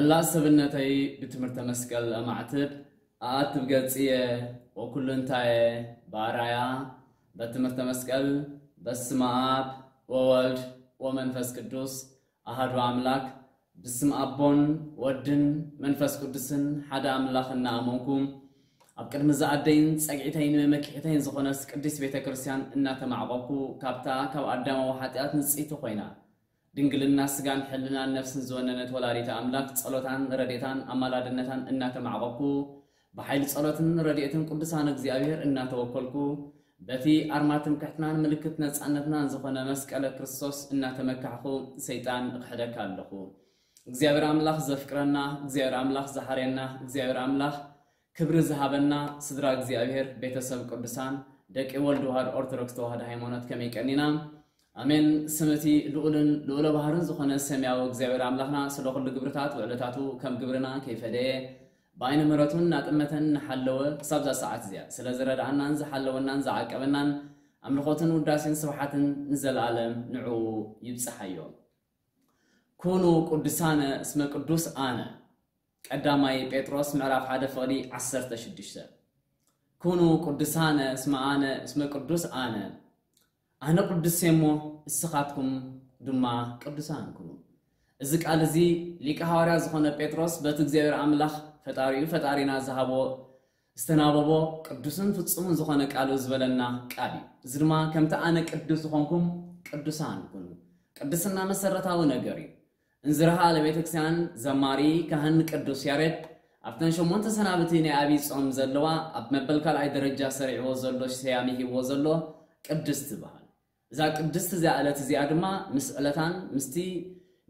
መላእ ሰብነተይ ብትምህርተ መስቀል ኣማዕትብ፣ ኣኣትብ ገጽየ ወኩሉ እንታየ ብኣርኣያ በትምህርተ መስቀል። በስመ ኣብ ወወልድ ወመንፈስ ቅዱስ ኣሃዱ ኣምላክ። ብስም ኣቦን ወድን መንፈስ ቅዱስን ሓደ ኣምላኽ እናኣመንኩ፣ ኣብ ቅድሚ ዝኣደይን ጸግዒተይን መመኪሒተይን ዝኾነት ቅድስት ቤተ ክርስቲያን እናተማዕቆብኩ፣ ካብታ ካብ ኣዳማዊ ሓጢኣት ንጽይቲ ኮይና፣ ድንግልና ስጋን ሕልናን ነፍስን ዝወነነት ወላዲተ ኣምላክ ጸሎታን ረድኤታን ኣማላድነታን እናተማዕቆብኩ፣ ብሓይሊ ጸሎትን ረድኤትን ቅዱሳን እግዚኣብሔር እናተወከልኩ፣ በቲ ኣርማ ትምክሕትናን ምልክት ነጻነትናን ዝኾነ መስቀለ ክርስቶስ እናተመካሕኩ፣ ሰይጣን እኽሕደካ ኣለኹ። እግዚኣብሔር ኣምላኽ ዘፍቅረና፣ እግዚኣብሔር ኣምላኽ ዝሓርየና፣ እግዚኣብሔር ኣምላኽ ክብሪ ዝሃበና ስድራ እግዚኣብሔር፣ ቤተሰብ ቅዱሳን፣ ደቂ ወልድ ዋህድ ኦርቶዶክስ ተዋህዶ ሃይማኖት ከመይ ቀኒና? ኣሜን። ስም እቲ ልዑልን ልዑለ ባህርን ዝኾነ ሰማያዊ እግዚኣብሔር ኣምላኽና ስለ ኩሉ ግብርታት ውዕለታቱ ከም ግብርና ከይፈለየ ብዓይነ ምሕረቱን እናጠመተን እናሓለወ ክሳብዛ ሰዓት እዚኣ ስለ ዝረድኣናን ዝሓለወናን ዝዓቀበናን ኣምልኾትን ውዳሴን ስብሓትን ንዘለኣለም ንዕኡ ይብጽሓዮ። ኩኑ ቅዱሳነ እስመ ቅዱስ ኣነ። ቀዳማይ ጴጥሮስ ምዕራፍ ሓደ ፍቕዲ ዓሰርተ ሽዱሽተ። ኩኑ ቅዱሳነ እስመ ኣነ እስመ ቅዱስ ኣነ። ኣነ ቅዱስ እየ እሞ እስኻትኩም ድማ ቅዱሳን ኩኑ። እዚ ቃል እዚ ሊቀ ሃዋርያ ዝኾነ ጴጥሮስ በቲ እግዚኣብሔር ኣምላኽ ፈጣሪኡ ፈጣሪና ዝሃቦ ዝተናበቦ ቅዱስን ፍጹምን ዝኾነ ቃሉ ዝበለና ቃል እዩ። እዚ ድማ ከምቲ ኣነ ቅዱስ ዝኾንኩም ቅዱሳን ኩኑ። ቅድስና መሰረታዊ ነገር እዩ። እንዝርሃ ለቤተክርስቲያን ዘማሪ ካህን ቅዱስ ያሬድ ኣብተን ሸሞንተ ሰናብቲ ናይ ኣብይ ጾም ዘለዋ ኣብ መበል ካልኣይ ደረጃ ሰሪዕዎ ዘሎ ስያሜ ሂብዎ ዘሎ ቅድስት ትበሃል። እዛ ቅድስት እዚኣ ዕለት እዚኣ ድማ ምስ ዕለታን ምስቲ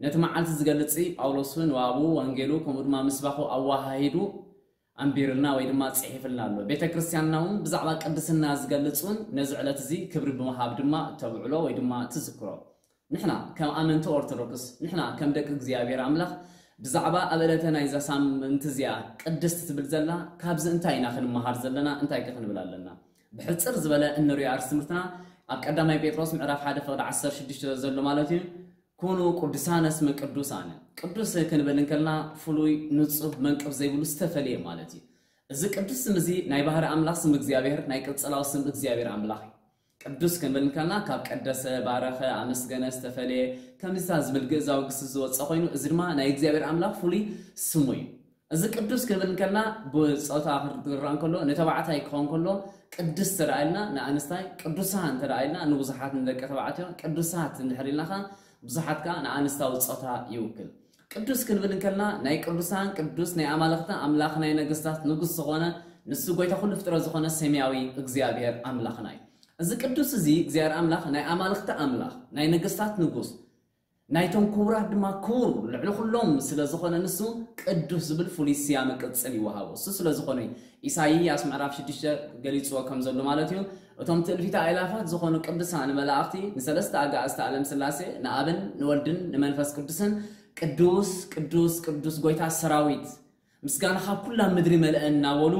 ነቲ መዓልቲ ዝገልጽ ጳውሎስ ንዋቡ ወንጌሉ ከምኡ ድማ ምስባኹ ኣወሃሂዱ ኣንቢርልና ወይ ድማ ጽሒፍልና ኣሎ። ቤተ ክርስቲያንና እውን ብዛዕባ ቅድስና ዝገልጽ እውን ነዚ ዕለት እዚ ክብሪ ብምሃብ ድማ ተብዕሎ ወይ ድማ ትዝክሮ። ንሕና ከም ኣመንቲ ኦርቶዶክስ፣ ንሕና ከም ደቂ እግዚኣብሔር ኣምላኽ ብዛዕባ ኣብ ዕለተ ናይዛ ሳምንቲ እዚኣ ቅድስት ትብል ዘላ ካብዚ እንታይ ኢና ክንመሃር ዘለና? እንታይ ከ ክንብል ኣለና? ብሕጽር ዝበለ እንሪኦ ኣርእስቲ ትምህርትና ኣብ ቀዳማይ ጴጥሮስ ምዕራፍ ሓደ ፍቕዲ ዓሰርተ ሽዱሽተ ዘሎ ማለት እዩ። ኩኑ ቅዱሳነ እስመ ቅዱስ ኣነ። ቅዱስ ክንብል እንከልና ፍሉይ፣ ንጹህ፣ መንቅብ ዘይብሉ ዝተፈልየ ማለት እዩ። እዚ ቅዱስ ስም እዚ ናይ ባህሪ ኣምላኽ ስም እግዚኣብሔር፣ ናይ ቅጽላዊ ስም እግዚኣብሔር ኣምላኽ እዩ። ቅዱስ ክንብል እንከልና ካብ ቀደሰ፣ ባረኸ፣ ኣመስገነ ዝተፈልየ ከምዚታት ዝብል ግእዛዊ ግስ ዝወፀ ኮይኑ፣ እዚ ድማ ናይ እግዚኣብሔር ኣምላኽ ፍሉይ ስሙ እዩ። እዚ ቅዱስ ክንብል እንከልና ብፆታ ክረኣ እንከሎ ንተባዕታይ ክኸውን ከሎ ቅድስት ተደኣ ኢልና ንኣንስታይ፣ ቅዱሳን ተደኣ ኢልና ንብዙሓት ንደቂ ተባዕትዮ፣ ቅዱሳት እንድሕር ኢልና ከኣ ብዙሓት ከኣ ንኣንስታዊ ፆታ ይውክል። ቅዱስ ክንብል እንከልና ናይ ቅዱሳን ቅዱስ፣ ናይ ኣማልኽቲ ኣምላኽ፣ ናይ ነገስታት ንጉስ ዝኾነ ንሱ ጎይታ ኩሉ ፍጥረት ዝኾነ ሰማያዊ እግዚኣብሔር ኣምላኽና እዩ። እዚ ቅዱስ እዚ እግዚኣብሔር ኣምላኽ ናይ ኣማልኽቲ ኣምላኽ፣ ናይ ነገስታት ንጉስ፣ ናይቶም ክቡራት ድማ ክቡር ልዕሊ ኩሎም ስለ ዝኾነ ንሱ ቅዱስ ዝብል ፍሉይ ስያመ ቅጽል ይወሃቦ። እሱ ስለ ዝኾነ እዩ። ኢሳይያስ ምዕራፍ ሽዱሽተ ገሊጽዎ ከም ዘሎ ማለት እዩ። እቶም ትእልፊት ኣእላፋት ዝኾኑ ቅዱሳን መላእኽቲ ንሰለስተ ኣጋእዝተ ዓለም ስላሴ ንኣብን ንወልድን ንመንፈስ ቅዱስን ቅዱስ ቅዱስ ቅዱስ ጎይታ ሰራዊት ምስጋና ካብ ኩላ ምድሪ መልአ እናበሉ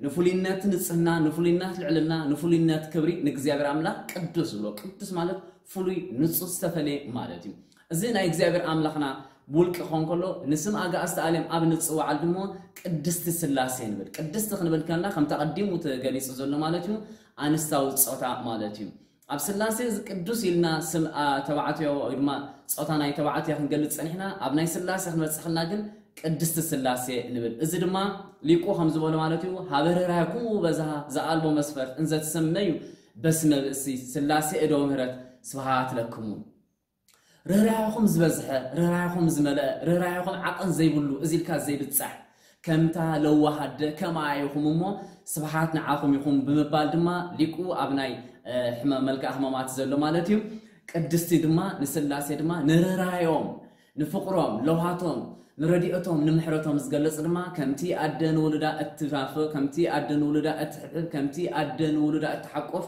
ንፍሉይነት ንጽህና፣ ንፍሉይነት ልዕልና፣ ንፍሉይነት ክብሪ ንእግዚኣብሔር ኣምላኽ ቅዱስ ዝብሎ። ቅዱስ ማለት ፍሉይ ንጹህ ዝተፈለየ ማለት እዩ። እዚ ናይ እግዚኣብሔር ኣምላኽና ብውልቂ ክኸውን ከሎ ንስም ኣጋእዝተ ኣለም ኣብ ንጽዋዓል ድሞ ቅድስቲ ስላሴ ንብል። ቅድስቲ ክንብል ከለና ከምቲ ኣቐዲሙ ተገሊጹ ዘሎ ማለት እዩ ኣንስታዊ ጾታ ማለት እዩ። ኣብ ስላሴ እዚ ቅዱስ ኢልና ስም ኣ፣ ተባዕትዮ ወይ ድማ ጾታ ናይ ተባዕትዮ ክንገልጽ ጸኒሕና፣ ኣብ ናይ ስላሴ ክንበጽሕ ከለና ግን ቅድስቲ ስላሴ ንብል። እዚ ድማ ሊቁ ከም ዝበሎ ማለት እዩ፣ "ሀበ ርህራኄክሙ በዝሃ ዘአልቦ መስፈርት እንዘ ትሰመዩ በስመ ብእሲ ስላሴ እደው ምህረት ስብሃት ለክሙ።" ርህራኄኹም ዝበዝሐ፣ ርህራኄኹም ዝመልአ፣ ርህራኄኹም ዓቐን ዘይብሉ፣ እዚ ኢልካ ዘይብጻሕ፣ ከምታ ለዋህ ኣደ ከምኣ ኢኹም እሞ ስብሓት ንዓኹም ይኹን ብምባል ድማ ሊቁ ኣብ ናይ፣ እ፣ ሕመ-፣ መልክዓ ሕማማት ዘሎ ማለት እዩ። ቅድስቲ ድማ ንስላሴ ድማ ንርህራኄኦም፣ ንፍቕሮም፣ ለውሃቶም፣ ንረድኤቶም፣ ንምሕረቶም ዝገልጽ ድማ ከምቲ ኣደ ንውሉዳ እትናፍቕ፣ ከምቲ ኣደ ንውሉዳ እትሕብሕብ፣ ከምቲ ኣደ ንውሉዳ እትሓቁፍ፣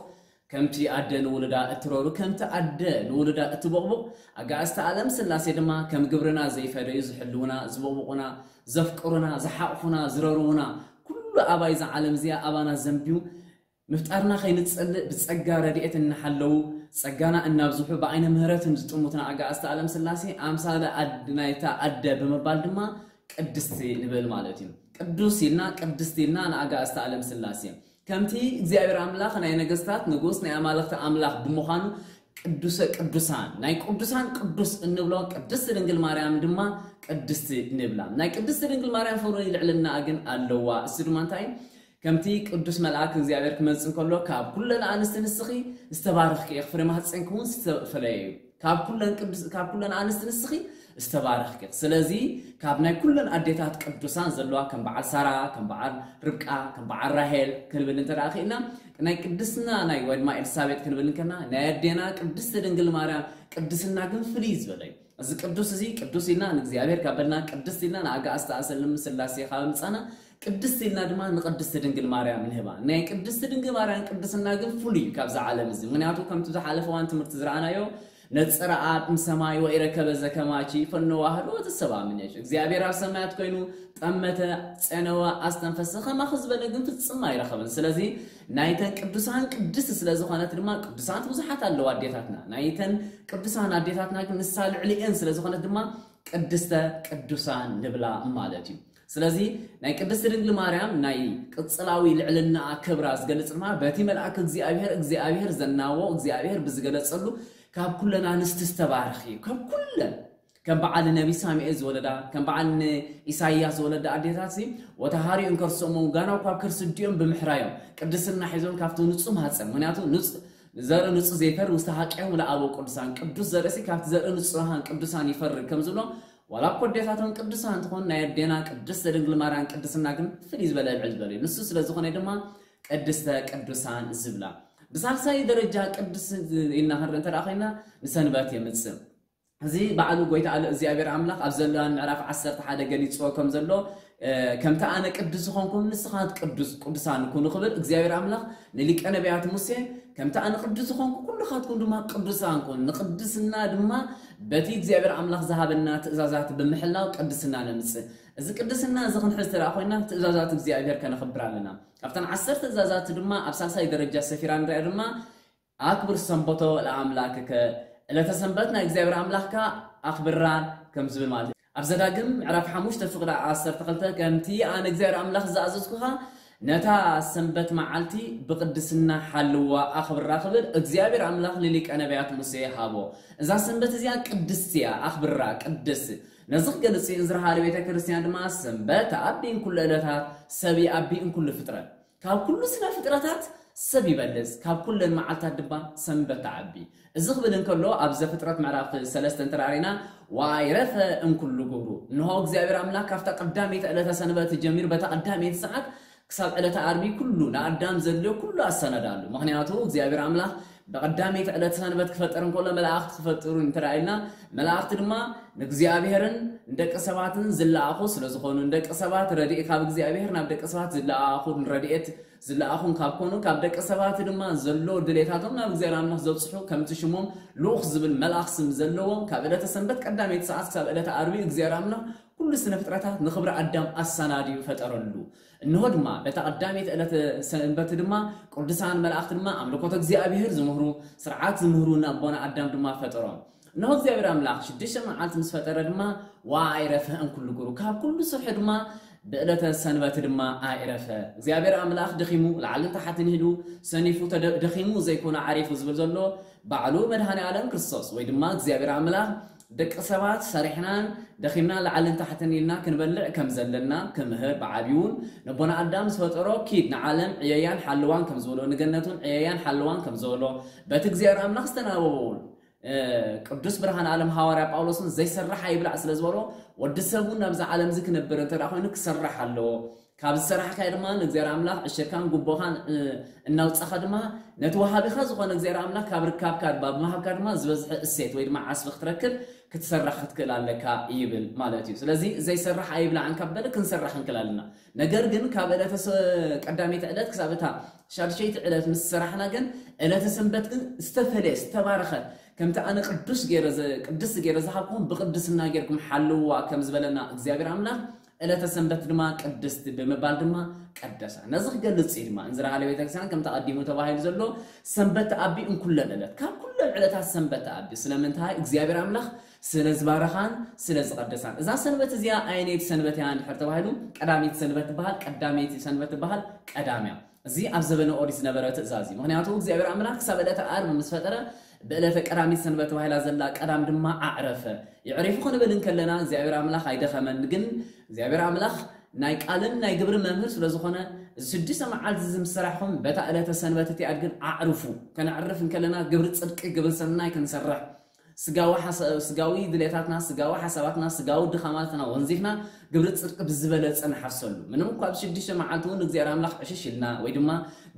ከምቲ ኣደ ንውሉዳ እትረሩ፣ ከምቲ ኣደ ንውሉዳ እትቦቕቡቕ፣ ኣጋእዝተ ኣለም ስላሴ ድማ ከም ግብርና ዘይፈደዩ ዝሕልውና፣ ዝቦቕቡቑና፣ ዘፍቅሩና፣ ዝሓቕፉና፣ ዝረርዉና፣ ኩሉ ኣባይ እዛ ዓለም እዚኣ ኣባና ዘንብዩ፣ ምፍጣርና ከይንጸልእ ብጸጋ ረድኤት እናሓለዉ፣ ጸጋና እናብዝሑ፣ ብዓይነ ምህረትን ዝጥሙትና ኣጋእዝተ ኣለም ስላሴ፣ ኣምሳለ ኣድ-፣ ናይታ ኣደ ብምባል ድማ ቅድስቲ ንብል ማለት እዩ። ቅዱስ ኢልና ቅድስቲ ኢልና ንኣጋእዝተ ዓለም ስላሴ ከምቲ እግዚኣብሔር ኣምላኽ ናይ ነገስታት ንጉስ ናይ ኣማልኽቲ ኣምላኽ ብምዃኑ ቅዱሰ ቅዱሳን ናይ ቅዱሳን ቅዱስ እንብሎ ቅድስቲ ድንግል ማርያም ድማ ቅድስቲ ንብላ። ናይ ቅድስቲ ድንግል ማርያም ፍሩይ ልዕልና ግን ኣለዋ። እሱ ድማ እንታይ ከምቲ ቅዱስ መልኣክ እግዚኣብሔር ክመጽእ ከሎ ካብ ኩለን ኣንስቲ ንስኺ ዝተባረኽኪ ኢኺ፣ ፍሬ ማህፀንኪ እውን ዝተፈለየ እዩ። ካብ ኩለን ቅዱስ ካብ ኩለን ኣንስቲ ንስኺ ዝተባረኽኪ ኢኺ። ስለዚ ካብ ናይ ኩለን ኣዴታት ቅዱሳን ዘለዋ ከም በዓል ሳራ፣ ከም በዓል ርብቃ፣ ከም በዓል ራሄል ክንብል እንተ ደኣ ኽኢልና ናይ ቅድስና ናይ ወድማ ኤልሳቤጥ ክንብል እንከና ናይ ኣዴና ቅድስቲ ድንግል ማርያም ቅድስና ግን ፍልይ ዝበለ እዩ። እዚ ቅዱስ እዚ ቅዱስ ኢልና ንእግዚኣብሔር ካብ በልና ቅድስት ኢልና ንኣጋእዝተ ኣሰልም ስላሴ ካብ ምጻና ቅድስት ኢልና ድማ ንቅድስቲ ድንግል ማርያም ንህባ። ናይ ቅድስቲ ድንግል ማርያም ቅድስና ግን ፍሉይ እዩ ካብዛ ዓለም እዚ። ምክንያቱ ከምቲ ዝሓለፈ እዋን ትምህርቲ ዝረኣናዮ ነጸረ ኣብ እምሰማይ ወኢረከበ ዘከማቺ ፈነዋህዶ ተሰባ ምንሽ እግዚኣብሔር ኣብ ሰማያት ኮይኑ ጠመተ ጸነወ ኣስተንፈሰ ከማኹ ዝበለ ግን ፍጽም ኣይረኸበን። ስለዚ ናይተን ቅዱሳን ቅድስት ስለ ዝኾነት ድማ ቅዱሳት ብዙሓት ኣለዋ ኣዴታትና። ናይተን ቅዱሳን ኣዴታትና ግን ንሳ ልዕሊኤን ስለ ዝኾነት ድማ ቅድስተ ቅዱሳን ንብላ ማለት እዩ። ስለዚ ናይ ቅድስቲ ድንግል ማርያም ናይ ቅጽላዊ ልዕልና ክብራ ዝገልጽ ድማ በቲ መልኣክ እግዚኣብሔር እግዚኣብሔር ዘናዎ እግዚኣብሔር ብዝገለጸሉ ካብ ኩለን ኣንስቲ ዝተባረኽ እዩ። ካብ ኩለን ከም በዓል ነቢ ሳሙኤል ዝወለዳ ከም በዓል ኢሳያስ ዝወለዳ ኣዴታት ሲ ወተሃሪኡ እንከርሶሞ ጋና እኳ ከርሲ ዲኦም ብምሕራዮም ቅድስና ሒዞም ካብቲ ንጹህ ማህፀን ምክንያቱ ንጹህ ዘርኢ ንጹህ ዘይፈር ውስተ ሀቂሆም ለአበው ቅዱሳን ቅዱስ ዘርእሲ ካብቲ ዘርኢ ንጹሃን ቅዱሳን ይፈርድ ከም ዝብሎ ዋላ እኮ ኣዴታቶም ቅዱሳን እንትኾን ናይ ኣዴና ቅድስት ድንግል ማርያም ቅድስና ግን ፍልይ ዝበለ ልዕል ዝበለ እዩ። ንሱ ስለ ዝኾነ ድማ ቅድስተ ቅዱሳን ዝብላ። ብሳልሳይ ደረጃ ቅዱስ ኢልና ክንርኢ እንተ ኮይና ንሰንበት የምጽእ። እዚ ባዕሉ ጎይታ ኣለ እግዚኣብሔር ኣምላኽ ኣብ ዘለዋን ምዕራፍ ዓሰርተ ሓደ ገሊጽዎ ከም ዘሎ ከምቲ ኣነ ቅዱስ ዝኾንኩ ንስኻት ቅዱስ ቅዱሳን ኩኑ ክብል እግዚኣብሔር ኣምላኽ ንሊቀ ነቢያት ሙሴ ከምቲ ኣነ ቅዱስ ዝኾንኩ ኩልኻትኩም ድማ ቅዱሳን ኩኑ። ንቅድስና ድማ በቲ እግዚኣብሔር ኣምላኽ ዝሃበና ትእዛዛት ብምሕላው ቅድስና ነምጽእ። እዚ ቅድስና እዚ ክንሕዝ ተደኣ ኮይና ትእዛዛት እግዚኣብሔር ከነኽብር ኣለና። ካብተን ዓሰርተ ትእዛዛት ድማ ኣብ ሳልሳይ ደረጃ ሰፊራ ንሪኣ ድማ ኣክብር ሰንበቶ ለኣምላክከ ዕለተ ሰንበት ናይ እግዚኣብሔር ኣምላኽካ ኣኽብራ ከም ዝብል ማለት እዩ። ኣብ ዘዳግም ምዕራፍ ሓሙሽተ ፍቕዲ ዓሰርተ ክልተ ከምቲ ኣነ እግዚኣብሔር ኣምላኽ ዝኣዘዝኩኻ ነታ ሰንበት መዓልቲ ብቕድስና ሓልዋ ኣኽብራ ክብል እግዚኣብሔር ኣምላኽ ንሊቀ ነቢያት ሙሴ ሃቦ። እዛ ሰንበት እዚኣ ቅድስቲ እያ፣ ኣኽብራ ቅድስ። ነዚ ክገልጽ እዩ እንዝረሃለ ቤተ ክርስቲያን ድማ ሰንበት ኣቢን ኩሉ ዕለታት ሰብ ኣቢን ኩሉ ፍጥረት ካብ ኩሉ ስነ ፍጥረታት ሰብ ይበልጽ ካብ ኩለን መዓልታት ድማ ሰንበት ተዓቢ። እዚ ክብል እንከሎ ኣብ ዘፍጥረት ምዕራፍ ሰለስተ እንተራሪና ዋይረፈ እንኩሉ ግብሩ እንሆ እግዚኣብሔር ኣምላኽ ካብታ ቀዳመይቲ ዕለተ ሰንበት ጀሚሩ በታ ቀዳመይቲ ሰዓት ክሳብ ዕለተ ኣርቢ ኩሉ ንኣዳም ዘድልዮ ኩሉ ኣሰናዳሉ። ምክንያቱ እግዚኣብሔር ኣምላኽ ብቐዳመይቲ ዕለት ሰንበት ክፈጥር እንከሎ መላእኽቲ ክፈጥሩ እንተራኢልና መላእኽቲ ድማ ንእግዚኣብሔርን ንደቂ ሰባትን ዝለኣኹ ስለ ዝኾኑ ንደቂ ሰባት ረድኤት ካብ እግዚኣብሔር ናብ ደቂ ሰባት ዝለኣኹ ረድኤት ዝለኣኹን ካብ ኮኑ ካብ ደቂ ሰባት ድማ ዘሎ ድሌታቶም ናብ እግዚኣብሔር ኣምላኽ ዘብፅሑ ከምቲ ሽሞም ልኡኽ ዝብል መልኣኽ ስም ዘለዎም ካብ ዕለተ ሰንበት ቀዳመይቲ ሰዓት ክሳብ ዕለተ ኣርቢ እግዚኣብሔር ኣምላኽ ኩሉ ስነ ፍጥረታት ንኽብሪ ኣዳም ኣሰናድዩ ፈጠረሉ። እንሆ ድማ በታ ቀዳመይቲ ዕለተ ሰንበት ድማ ቅዱሳን መላእኽቲ ድማ ኣምልኮተ እግዚኣብሔር ዝምህሩ ስርዓት ዝምህሩ ንኣቦና ኣዳም ድማ ፈጠሮም። እንሆ እግዚኣብሔር ኣምላኽ ሽዱሽተ መዓልቲ ምስ ፈጠረ ድማ ወኣይረፈ እንኩሉ ግብሩ ካብ ኩሉ ስርሑ ድማ ብዕለተ ሰንበት ድማ ኣይረፈ። እግዚኣብሔር ኣምላኽ ደኺሙ ላዕልን ታሕትን ኢሉ ሰኒፉ ተደ- ደኺሙ ዘይኮነ ዓሪፉ ዝብል ዘሎ ባዕሉ መድኃኔ ዓለም ክርስቶስ ወይ ድማ እግዚኣብሔር ኣምላኽ ደቂ ሰባት ሰሪሕናን ደኺምና ላዕልን ታሕትን ኢልና ክንበልዕ ከም ዘለና ክምህር ብዓብዩን ነቦና ኣዳም ዝፈጠሮ ኪድ ንዓለም ዕየያን ሓልዋን ከም ዝበሎ ንገነቱን ዕየያን ሓልዋን ከም ዝበሎ በቲ እግዚኣብሔር ኣምላኽ ዝተናበበውን ቅዱስ ብርሃን ዓለም ሃዋርያ ጳውሎስን ዘይሰርሕ ኣይብላዕ ስለ ዝበሎ ወዲ ሰብ እውን ናብዛ ዓለም እዚ ክነብር እንተ ኮይኑ ክሰርሕ ኣለዎ። ካብ ዝሰራሕካዮ ድማ ንእግዚኣብሔር ኣምላኽ ዕሽርካን ጉቦኻን እናውፃኻ ድማ ነቲ ወሃቢኻ ዝኾነ እግዚኣብሔር ኣምላኽ ካብ ርካብካ ድማ ብምሃብካ ድማ ዝበዝሐ እሴት ወይ ድማ ዓስቢ ክትረክብ ክትሰርሕ ክትክእል ኣለካ ይብል ማለት እዩ። ስለዚ ዘይሰርሕ ኣይብላዕን ካብ በለ ክንሰርሕ ክንክእል ኣለና። ነገር ግን ካብ ዕለተ ቀዳመይቲ ዕለት ክሳብ እታ ሻድሸይቲ ዕለት ምስ ሰራሕና ግን ዕለተ ሰንበት ግን ዝተፈለየ ዝተባረኸት ከምቲ ኣነ ቅዱስ ገይረ ቅድስቲ ገይረ ዝሃብኩም ብቅድስና ጌርኩም ሓልዋ ከም ዝበለና እግዚኣብሔር ኣምላኽ ዕለተ ሰንበት ድማ ቅድስቲ ብምባል ድማ ቀደሳ። ነዚ ክገልጽ እዩ ድማ እንዝራ ሃለ ቤተክርስትያን ከምቲ ኣቐዲሙ ተባሂሉ ዘሎ ሰንበት ተኣቢ እንኩለን ዕለት ካብ ኩሉ ኩለን ዕለታት ሰንበት ተኣቢ። ስለምንታይ? እግዚኣብሔር ኣምላኽ ስለ ዝባረኻን ስለ ዝቐደሳን። እዛ ሰንበት እዚኣ ኣየነይቲ ሰንበት እያ እንድሕር ተባሂሉ፣ ቀዳመይቲ ሰንበት ትበሃል። ቀዳመይቲ ሰንበት ትበሃል ቀዳም እያ። እዚ ኣብ ዘበነ ኦሪት ዝነበረ ትእዛዝ እዩ። ምኽንያቱ እግዚኣብሔር ኣምላኽ ክሳብ ዕለተ ዓርቢ ምስ ፈጠረ፣ ብዕለተ ቀዳሚት ሰንበት ተባሂላ ዘላ ቀዳም ድማ ኣዕረፈ። የዕሪፉ ክንብል እንከለና፣ እግዚኣብሔር ኣምላኽ ኣይደኸመን። ግን እግዚኣብሔር ኣምላኽ ናይ ቃልን ናይ ግብርን መምህር ስለ ዝኾነ፣ እዚ ሽዱሽተ መዓልቲ እዚ ምስ ሰራሕኹም፣ በታ ዕለተ ሰንበት እቲኣ ግን ኣዕርፉ። ከነዕርፍ እንከለና፣ ግብሪ ጽድቂ፣ ግብሪ ሰናይ ክንሰርሕ፣ ስጋዊ ሓሳ-፣ ስጋዊ ድሌታትና፣ ስጋዊ ሓሳባትና፣ ስጋዊ ድኻማትና ወንዚፍና፣ ግብሪ ጽድቂ ብዝበለጸ ንሓሰሉ። ምንም እኳ ኣብ ሽዱሽተ መዓልቲ እውን እግዚኣብሔር ኣምላኽ ዕሽሽ ኢልና፣ ወይ ድማ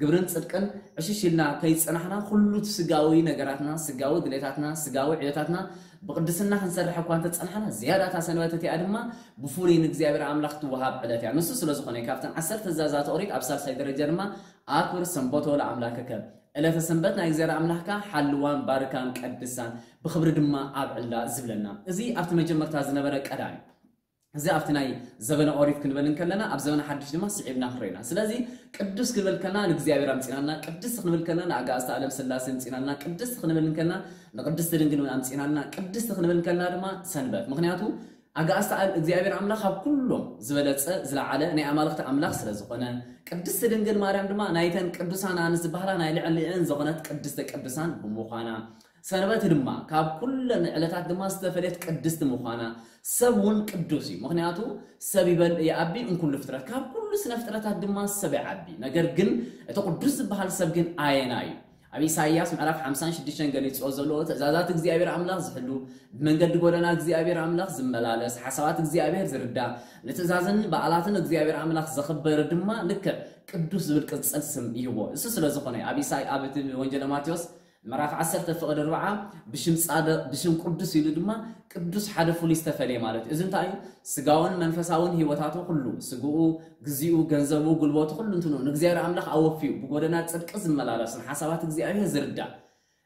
ግብርን ጽድቅን ዕሽሽ ኢልና ከይጸናሕና፣ ኩሉ እቲ ስጋዊ ነገራትና፣ ስጋዊ ድሌታትና፣ ስጋዊ ዕዮታትና ብቅድስና ክንሰርሕ እኳ እንተጸናሕና፣ ዝያዳ እታ ሰንበት እቲኣ ድማ ብፍሉይ ንእግዚኣብሔር ኣምላኽ ትወሃብ ዕለት እያ። ንሱ ስለ ዝኾነ፣ ካብተን ዓሰርተ ትእዛዛት ኦሪት ኣብ ሳልሳይ ደረጃ ድማ፣ "ኣክብር ሰንበቶ ለኣምላክከ"፣ ዕለተ ሰንበት ናይ እግዚኣብሔር ኣምላኽካ ሓልዋን ባርካን ቀድሳን፣ ብኽብሪ ድማ ኣብዕላ ዝብለና። እዚ ኣብቲ መጀመርታ ዝነበረ ቀዳም እዩ። እዚ ኣብቲ ናይ ዘበነ ኦሪት ክንብል እንከለና፣ ኣብ ዘበነ ሓድሽ ድማ ስዒብና ክንሪኦ ኢና። ስለዚ ቅዱስ ክንብል ከለና ንእግዚኣብሔር ኣምጺናልና፣ ቅድስቲ ክንብል ከለና ንኣጋእዝተ ዓለም ስላሴ ኣምጺናልና፣ ቅድስቲ ክንብል እንከለና ንቅድስቲ ድንግል ኣምጺናልና፣ ቅድስቲ ክንብል እንከለና ድማ ሰንበት። ምኽንያቱ ኣጋእዝተ ዓለም እግዚኣብሔር ኣምላኽ ካብ ኩሎም ዝበለጸ ዝለዓለ ናይ ኣማልኽቲ ኣምላኽ ስለ ዝኾነ፣ ቅድስቲ ድንግል ማርያም ድማ ናይተን ቅዱሳን ኣንስቲ ዝበሃላ ናይ ልዕሊአን ዝኾነት ቅድስተ ቅዱሳን ብምዃና፣ ሰንበት ድማ ካብ ኩለን ዕለታት ድማ ዝተፈለየት ቅድስቲ ምዃና፣ ሰብ እውን ቅዱስ እዩ። ምኽንያቱ ሰብ ይበልዕ ይዓቢ እምኩሉ ፍጥረት፣ ካብ ኩሉ ስነ ፍጥረታት ድማ ሰብ ይዓቢ። ነገር ግን እቲ ቅዱስ ዝበሃል ሰብ ግን ኣየና እዩ? ኣብ ኢሳይያስ ምዕራፍ ሓምሳን ሽዱሽተን ገሊጽዎ ዘለዎ፣ ትእዛዛት እግዚኣብሔር ኣምላኽ ዝሕሉ፣ ብመንገዲ ጎደና እግዚኣብሔር ኣምላኽ ዝመላለስ፣ ሓሳባት እግዚኣብሔር ዝርዳ፣ ንትእዛዝን በዓላትን እግዚኣብሔር ኣምላኽ ዘኽብር ድማ ልክዕ ቅዱስ ዝብል ቅጽል ስም ይህቦ። እሱ ስለ ዝኾነ ኣብ ኢሳይ-፣ ኣብ እቲ ወንጌለ ማቴዎስ ምዕራፍ ዓሰርተ ፍቕዲ ኣርብዓ፣ ብሽም ጻድቕ፣ ብሽም ቅዱስ ኢሉ ድማ ቅዱስ ሓደ ፍሉይ ዝተፈልየ ማለት እዩ። እዚ እንታይ እዩ? ስጋውን መንፈሳውን ህይወታቱ ኩሉ፣ ስግኡ፣ ግዚኡ፣ ገንዘቡ፣ ጉልበቱ፣ ኩሉ እንትኑ ንእግዚኣብሔር ኣምላኽ ኣወፍዩ ብጎደና ጽድቂ ዝመላለስ፣ ንሓሳባት እግዚኣብሔር ዝርዳእ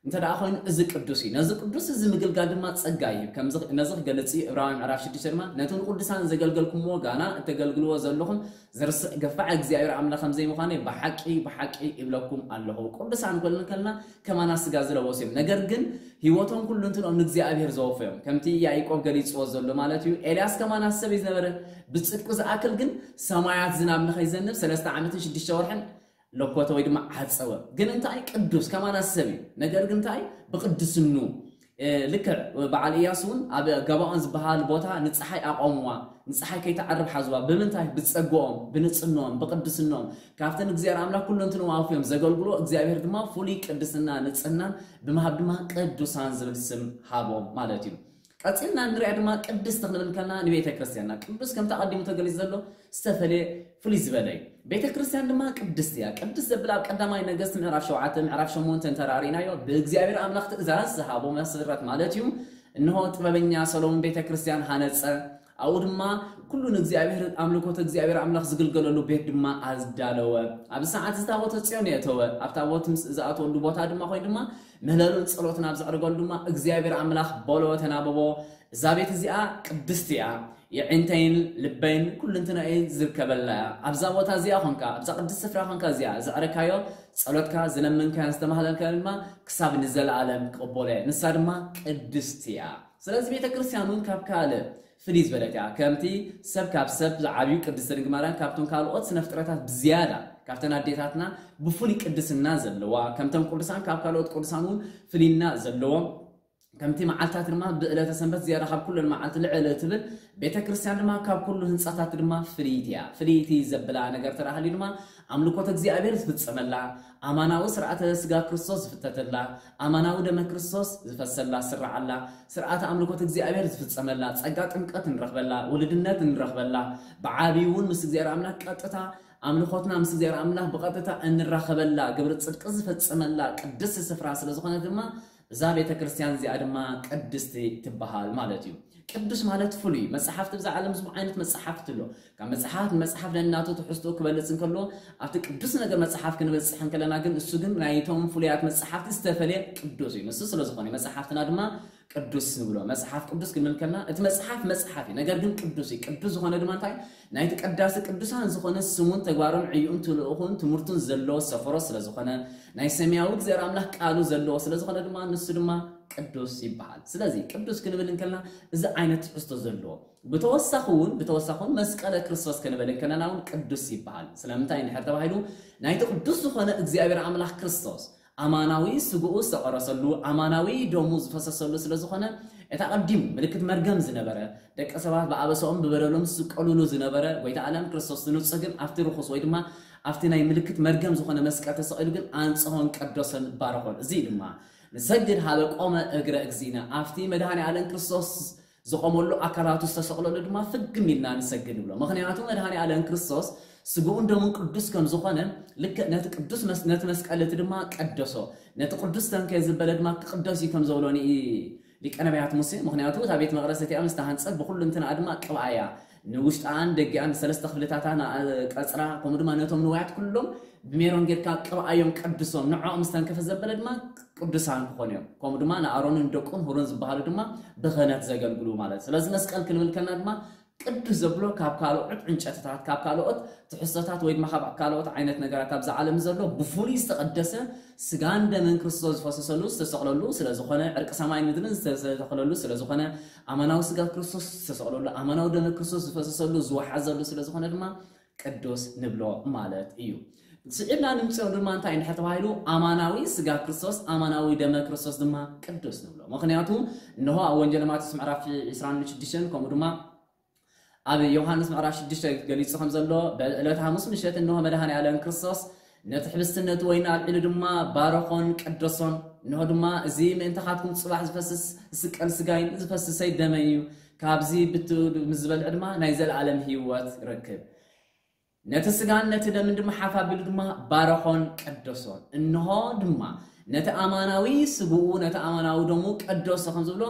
እንተ ደኣ ኮይኑ፣ እዚ ቅዱስ እዩ። ነዚ ቅዱስ እዚ ምግልጋል ድማ ጸጋ እዩ። ከምዚ፣ ነዚ ክገልጽ እዩ ዕብራውያን ምዕራፍ ሽዱሽተ ድማ፣ "ነቲ ንቅዱሳን ዘገልገልኩምዎ ጋና እተገልግልዎ ዘለኹም ዘርስዕ ገፋዕ እግዚኣብሔር ኣምላኽ ከም ዘይምዃነይ ብሓቂ፣ ብሓቂ ይብለኩም ኣለኹ።" ቅዱሳን ክብል እንከለና ከማና ስጋ ዝለበሱ እዮም። ነገር ግን ህይወቶም ኩሉ እንትንኦም ንእግዚኣብሔር ዘወፈዮም። ከምቲ ያዕቆብ ገሊጽዎ ዘሎ ማለት እዩ። ኤልያስ ከማና ሰብ እዩ ዝነበረ። ብጽድቁ ዝኣክል ግን ሰማያት ዝናብ ንኸይዘንብ ሰለስተ ዓመትን ሽዱሽተ ወርሕን ለኮተ ወይ ድማ ዓጸወ። ግን እንታይ? ቅዱስ ከማና ሰብ እዩ። ነገር ግን እንታይ? ብቅድስኑ፣ እ፣ ልክዕ በዓል ኢያሱ እውን ኣብ ገባኦን ዝበሃል ቦታ ንጸሓይ ኣቆምዋ፣ ንጸሓይ ከይትዓርብ ሓዝዋ። ብምንታይ? ብጸግኦም፣ ብንጽህንኦም፣ ብቅድስንኦም። ካብተን እግዚኣብሔር ኣምላኽ ኩሉ እንትንኦም ኣውፍዮም ዘገልግሎ እግዚኣብሔር ድማ ፍሉይ ቅድስና፣ ንጽህናን ብምሃብ ድማ ቅዱሳን ዝብል ስም ሃቦም ማለት እዩ። ቀጺልና ንሪኣ ድማ ቅድስቲ ክንብል ከለና ንቤተ ክርስቲያንና ቅዱስ ከምቲ ኣቐዲሙ ተገሊጹ ዘሎ ዝተፈልየ ፍሉይ ዝበለ እዩ። ቤተ ክርስቲያን ድማ ቅድስቲ እያ። ቅድስቲ ዘብል ኣብ ቀዳማይ ነገስት ምዕራፍ ሸውዓተ፣ ምዕራፍ ሸሞንተ እንተራሪእናዮ፣ ብእግዚኣብሔር ኣምላኽ ትእዛዝ ዝሃቦ መሰረት ማለት እዩ። እንሆ ጥበበኛ ሰሎሞን ቤተ ክርስቲያን ሃነጸ፣ ኣብኡ ድማ ኩሉ ንእግዚኣብሔር ኣምልኮት እግዚኣብሔር ኣምላኽ ዝግልገለሉ ቤት ድማ ኣዳለወ። ኣብ ሰዓት እዚ ታቦተ ጽዮን የእተወ። ኣብ ታቦት ምስ ዝኣተወሉ ቦታ ድማ ኮይኑ ድማ ምህለሉን ጸሎትን ኣብ ዘዕርገሉ ድማ እግዚኣብሔር ኣምላኽ በሎ ተናበቦ፣ "እዛ ቤት እዚኣ ቅድስቲ እያ፣ የዒንተይን ልበይን ኩልንትናኤ ዝርከበላ እያ። ኣብዛ ቦታ እዚኣ ኾንካ፣ ኣብዛ ቅድስቲ ስፍራ ኾንካ እዚኣ ዘዕረካዮ ጸሎትካ፣ ዝለመንካዮን ዝተማህለልካዮን ድማ ክሳብ ንዘለኣለም ክቕበሎ እየ። ንሳ ድማ ቅድስቲ እያ።" ስለዚ ቤተ ክርስቲያን እውን ካብ ካልእ ፍልይ ዝበለት እያ። ከምቲ ሰብ ካብ ሰብ ዝዓብዩ ቅድስቲ ድንግል ማርያም ካብቶም ካልኦት ስነ ፍጥረታት ብዝያዳ፣ ካብተን ኣዴታትና ብፍሉይ ቅድስና ዘለዋ፣ ከምቶም ቅዱሳን ካብ ካልኦት ቅዱሳን እውን ፍልይና ዘለዎም፣ ከምቲ መዓልታት ድማ ብዕለተ ሰንበት ዝያዳ ካብ ኩለን መዓልቲ ልዕል እትብል፣ ቤተ ክርስቲያን ድማ ካብ ኩሉ ህንጻታት ድማ ፍልይቲ እያ። ፍልይቲ ዘብላ ነገር ተራህሊ ድማ ኣምልኮት እግዚኣብሔር ዝፍጸመላ፣ ኣማናዊ ስርዓተ ስጋ ክርስቶስ ዝፍተተላ፣ ኣማናዊ ደመ ክርስቶስ ዝፈሰላ፣ ስርዓላ፣ ስርዓተ ኣምልኮት እግዚኣብሔር ዝፍጸመላ፣ ጸጋ ጥምቀት እንረኽበላ፣ ውልድነት እንረኽበላ፣ ብዓብዩ እውን ምስ እግዚኣብሔር ኣምላኽ ቀጥታ ኣምልኾትና ምስ እግዚኣብሔር ኣምላኽ ብቐጥታ እንራኸበላ፣ ግብሪ ጽድቂ ዝፈጸመላ ቅድስቲ ስፍራ ስለ ዝኾነት ድማ እዛ ቤተ ክርስቲያን እዚኣ ድማ ቅድስቲ ትበሃል ማለት እዩ። ቅዱስ ማለት ፍሉይ እዩ። መጽሓፍቲ ብዛ ዓለም ብዙሕ ዓይነት መጽሓፍቲ ኣሎ። ካብ መጽሓፍ ንመጽሓፍ ነናቱ ትሕዝትኡ ክበልጽ እንከሎ፣ ኣብቲ ቅዱስ ነገር መጽሓፍ ክንበጽሕ እንከለና ግን፣ እሱ ግን ናይቶም ፍሉያት መጽሓፍቲ ዝተፈልየ ቅዱስ እዩ። ንሱ ስለ ዝኾነ መጽሓፍትና ድማ ቅዱስ ንብሎ። መጽሓፍ ቅዱስ ክንብል ከለና፣ እቲ መጽሓፍ መጽሓፍ እዩ፣ ነገር ግን ቅዱስ እዩ። ቅዱስ ዝኾነ ድማ እንታይ? ናይቲ ቀዳሲ ቅዱሳን ዝኾነ ስሙን ተግባሩን ዕዩኡን ትልእኹን ትምህርቱን ዘለዎ ሰፈሮ ስለ ዝኾነ፣ ናይ ሰማያዊ እግዚኣብሔር ኣምላኽ ቃሉ ዘለዎ ስለ ዝኾነ ድማ፣ ንሱ ድማ ቅዱስ ይበሃል። ስለዚ ቅዱስ ክንብል እንከልና እዚ ዓይነት ትሕዝቶ ዘለዎ፣ ብተወሳኺ እውን ብተወሳኺ እውን መስቀለ ክርስቶስ ክንብል እንከለና እውን ቅዱስ ይበሃል። ስለምንታይ እንድሕር ተባሂሉ፣ ናይቲ ቅዱስ ዝኾነ እግዚኣብሔር ኣምላኽ ክርስቶስ ኣማናዊ ስግኡ ዝተቐረሰሉ፣ ኣማናዊ ደሙ ዝፈሰሰሉ ስለ ዝኾነ፣ እቲ ኣቐዲሙ ምልክት መርገም ዝነበረ፣ ደቂ ሰባት ብኣበሳኦም ብበደሎም ዝስቀሉሉ ዝነበረ ጎይታ ዓለም ክርስቶስ ንጹህ ግን ኣብቲ ርኹስ ወይ ድማ ኣብቲ ናይ ምልክት መርገም ዝኾነ መስቀል ተሰቒሉ ግን ኣንጽሆን ቀደሶን ባረኾን። እዚ ድማ ንሰግድ ሃበ ቆመ እግረ እግዚእነ፣ ኣብቲ መድኃኔ ዓለም ክርስቶስ ዝቆመሉ ኣካላቱ ዝተሰቕለሉ ድማ ፍግም ኢልና ንሰግድ ንብሎ። ምኽንያቱ መድኃኔ ዓለም ክርስቶስ ስግኡን ደሙን ቅዱስ ከም ዝኾነ፣ ልክዕ ነቲ ቅዱስ መስ-፣ ነቲ መስቀል እቲ ድማ ቀደሶ። ነቲ ቅዱስ ተንከ ዝበለ ድማ ክቕደስ እዩ ከም ዘብሎ ንኢ-፣ ሊቀ ነቢያት ሙሴ። ምኽንያቱ እታ ቤት መቕደስ እቲኣ ምስ ተሃንጸት ብኹሉ እንትንኣ ድማ ቅብኣያ፣ ንውሽጣን ደጊኣን ንሰለስተ ክፍልታታ፣ ንቀጽራ፣ ከምኡ ድማ ነቶም ንዋያት ኩሎም ብሜሮን ጌርካ ቅብኣዮም፣ ቀድሶም። ንዕኦም ምስ ተንከፈ ዘበለ ድማ ቅዱሳን ክኾኑ እዮም። ከምኡ ድማ ንኣሮንን ደቁን ሁሮን ዝበሃሉ ድማ ብኽህነት ዘገልግሉ ማለት። ስለዚ መስቀል ክንብል ከልና ድማ ቅዱስ ዘብሎ ካብ ካልኦት ዕንጨትታት፣ ካብ ካልኦት ትሕዝቶታት ወይ ድማ ካብ ካልኦት ዓይነት ነገራት ኣብዚ ዓለም ዘሎ ብፍሉይ ዝተቐደሰ ስጋን ደምን ክርስቶስ ዝፈሰሰሉ ዝተሰቕለሉ ስለ ዝኾነ፣ ዕርቂ ሰማይን ምድርን ዝተተኸለሉ ስለ ዝኾነ፣ ኣማናዊ ስጋ ክርስቶስ ዝተሰቕለሉ፣ ኣማናዊ ደመ ክርስቶስ ዝፈሰሰሉ ዝወሓዘሉ ስለ ዝኾነ ድማ ቅዱስ ንብሎ ማለት እዩ። ስዒብና ንምፅኦ ድማ እንታይ እንድሕር ተባሂሉ፣ ኣማናዊ ስጋ ክርስቶስ፣ ኣማናዊ ደመ ክርስቶስ ድማ ቅዱስ ንብሎ። ምኽንያቱ እንሆ ኣብ ወንጌል ማቴዎስ ምዕራፍ ዕስራን ሽዱሽተን፣ ከምኡ ድማ ኣብ ዮሃንስ ምዕራፍ ሽዱሽተ ገሊጹ ከም ዘሎ፣ በዕለተ ሓሙስ ምሸት እንሆ መድኃኔ ዓለም ክርስቶስ ነቲ ሕብስቲ ነቲ ወይኒ ኣልዒሉ ድማ ባረኾን ቀደሶን። እንሆ ድማ እዚ ምእንታኻትኩም ጽባሕ ዝፈስስ ዝስቀል ስጋይን ዝፈስሰይ ደመይ እዩ። ካብዚ ብትኡ ምስ ዝበልዕ ድማ ናይ ዘለዓለም ህይወት ይረክብ። ነቲ ስጋን ነቲ ደምን ድማ ሓፍ ኣቢሉ ድማ ባረኾን ቀደሶን። እንሆ ድማ ነቲ ኣማናዊ ስግኡ ነቲ ኣማናዊ ደሙ ቀደሶ ከም ዝብሎ፣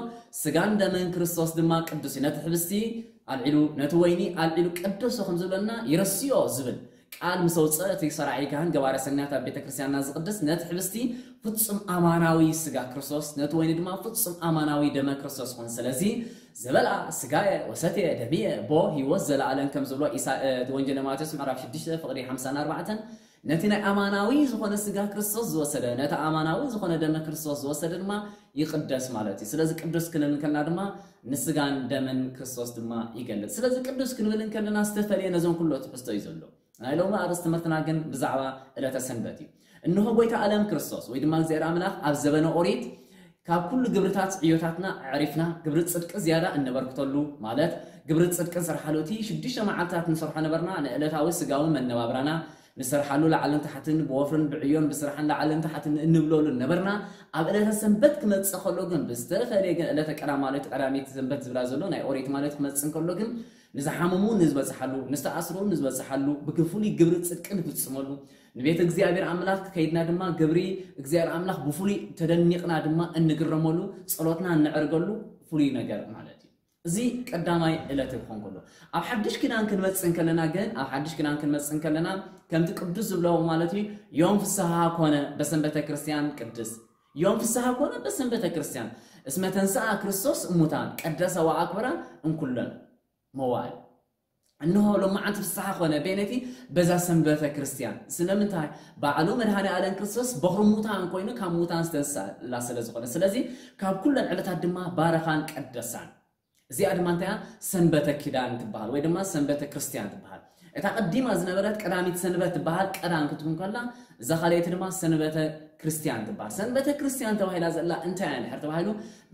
ስጋን ደምን ክርስቶስ ድማ ቅዱስ እዩ። ነቲ ሕብስቲ ኣልዒሉ ነቲ ወይኒ ኣልዒሉ ቀደሶ ከም ዝብለና ይረስዮ ዝብል ቃል ምስ ኣውፅአ፣ እቲ ሰራሒ ካህን ገባረ ሰናያት ኣብ ቤተ ክርስቲያንና ዝቕድስ ነቲ ሕብስቲ ፍጹም ኣማናዊ ስጋ ክርስቶስ፣ ነቲ ወይኒ ድማ ፍጹም ኣማናዊ ደመ ክርስቶስ ይኹን። ስለዚ ዝበልዓ ስጋየ ወሰትየ ደምየ ቦ ህይወት ዘለኣለም ከም ዝብሎ ኢሳ-፣ እ፣ ወንጌል ማቴዎስ ምዕራፍ ሽዱሽተ ፍቕዲ ሓምሳን ኣርባዕተን፣ ነቲ ናይ ኣማናዊ ዝኾነ ስጋ ክርስቶስ ዝወሰደ፣ ነቲ ኣማናዊ ዝኾነ ደመ ክርስቶስ ዝወሰደ ድማ ይቕደስ ማለት እዩ። ስለዚ ቅዱስ ክንብል ከልና ድማ ንስጋን ደምን ክርስቶስ ድማ ይገልጽ። ስለዚ ቅዱስ ክንብል እንከለና ዝተፈልየ ነዞም ኩሎ ትሕዝቶ እዩ ዘሎ። ናይ ሎሚ ኣርእስቲ ትምህርትና ግን ብዛዕባ ዕለተ ሰንበት እዩ። እንሆ ጎይታ ዓለም ክርስቶስ ወይ ድማ እግዚኣብሔር ኣምላኽ ኣብ ዘበነ ኦሪት ካብ ኩሉ ግብርታት ዕዮታትና ኣዕሪፍና ግብሪ ጽድቂ ዝያዳ እነበርክተሉ፣ ማለት ግብሪ ጽድቂ ንሰርሓሉ፣ እቲ ሽዱሽተ መዓልታት ንሰርሖ ነበርና ንዕለታዊ ስጋዊ መነባብራና ንሰርሓሉ ላዕልን ታሕትን ብወፍርን ብዕዮን ብስራሕን ላዕልን ታሕትን እንብለሉ ነበርና። ኣብ ዕለተ ሰንበት ክመጽእ ከሎ ግን ብዝተፈለየ ግን ዕለተ ቀዳማዊት ቀዳሚት ሰንበት ዝብላ ዘሎ ናይ ኦሪት ማለት ክመጽእ ከሎ ግን ንዝሓመሙ ንዝበጽሓሉ፣ ንዝተኣስሩ ንዝበጽሓሉ፣ ብፍሉይ ግብሪ ጽድቂ ንፍጽመሉ፣ ንቤት እግዚኣብሔር ኣምላኽ ከይድና ድማ ግብሪ እግዚኣብሔር ኣምላኽ ብፍሉይ ተደኒቕና ድማ እንግረመሉ፣ ጸሎትና እንዕርገሉ ፍሉይ ነገር ማለት እዩ። እዚ ቀዳማይ ዕለት ክኾን ከሎ፣ ኣብ ሓድሽ ኪዳን ክንመጽእ እንከለና ግን፣ ኣብ ሓድሽ ኪዳን ክንመጽእ እንከለና ከምቲ ቅዱስ ዝብሎ ማለት እዩ፣ ዮም ፍስሃ ኮነ በሰንበተ ክርስቲያን ቅድስ፣ ዮም ፍስሃ ኮነ በሰንበተ ክርስቲያን እስመ ተንሥአ ክርስቶስ እሙታን ቀደሰ ወአክብራ እንኩለን መዋዕል። እንሆ ሎማዓንቲ ፍስሓ ኮነ በይነቲ በዛ ሰንበተ ክርስቲያን። ስለምንታይ? ባዕሉ መድኃኔ ዓለም ክርስቶስ በኹሪ ሙታን ኮይኑ ካብ ሙታን ዝተንስኣላ ስለ ዝኾነ። ስለዚ ካብ ኩለን ዕለታት ድማ ባረኻን ቀደሳን። እዚኣ ድማ እንታይ እያ? ሰንበተ ኪዳን ትበሃል ወይ ድማ ሰንበተ ክርስቲያን ትበሃል። እታ ቀዲማ ዝነበረት ቀዳሚት ሰንበት ትበሃል፣ ቀዳም ክትኩን ከላ፣ እዛ ካልኣይቲ ድማ ሰንበተ ክርስቲያን ትበሃል። ሰንበተ ክርስቲያን ተባሂላ ዘላ እንታይ እያ እንድሕር ተባሂሉ፣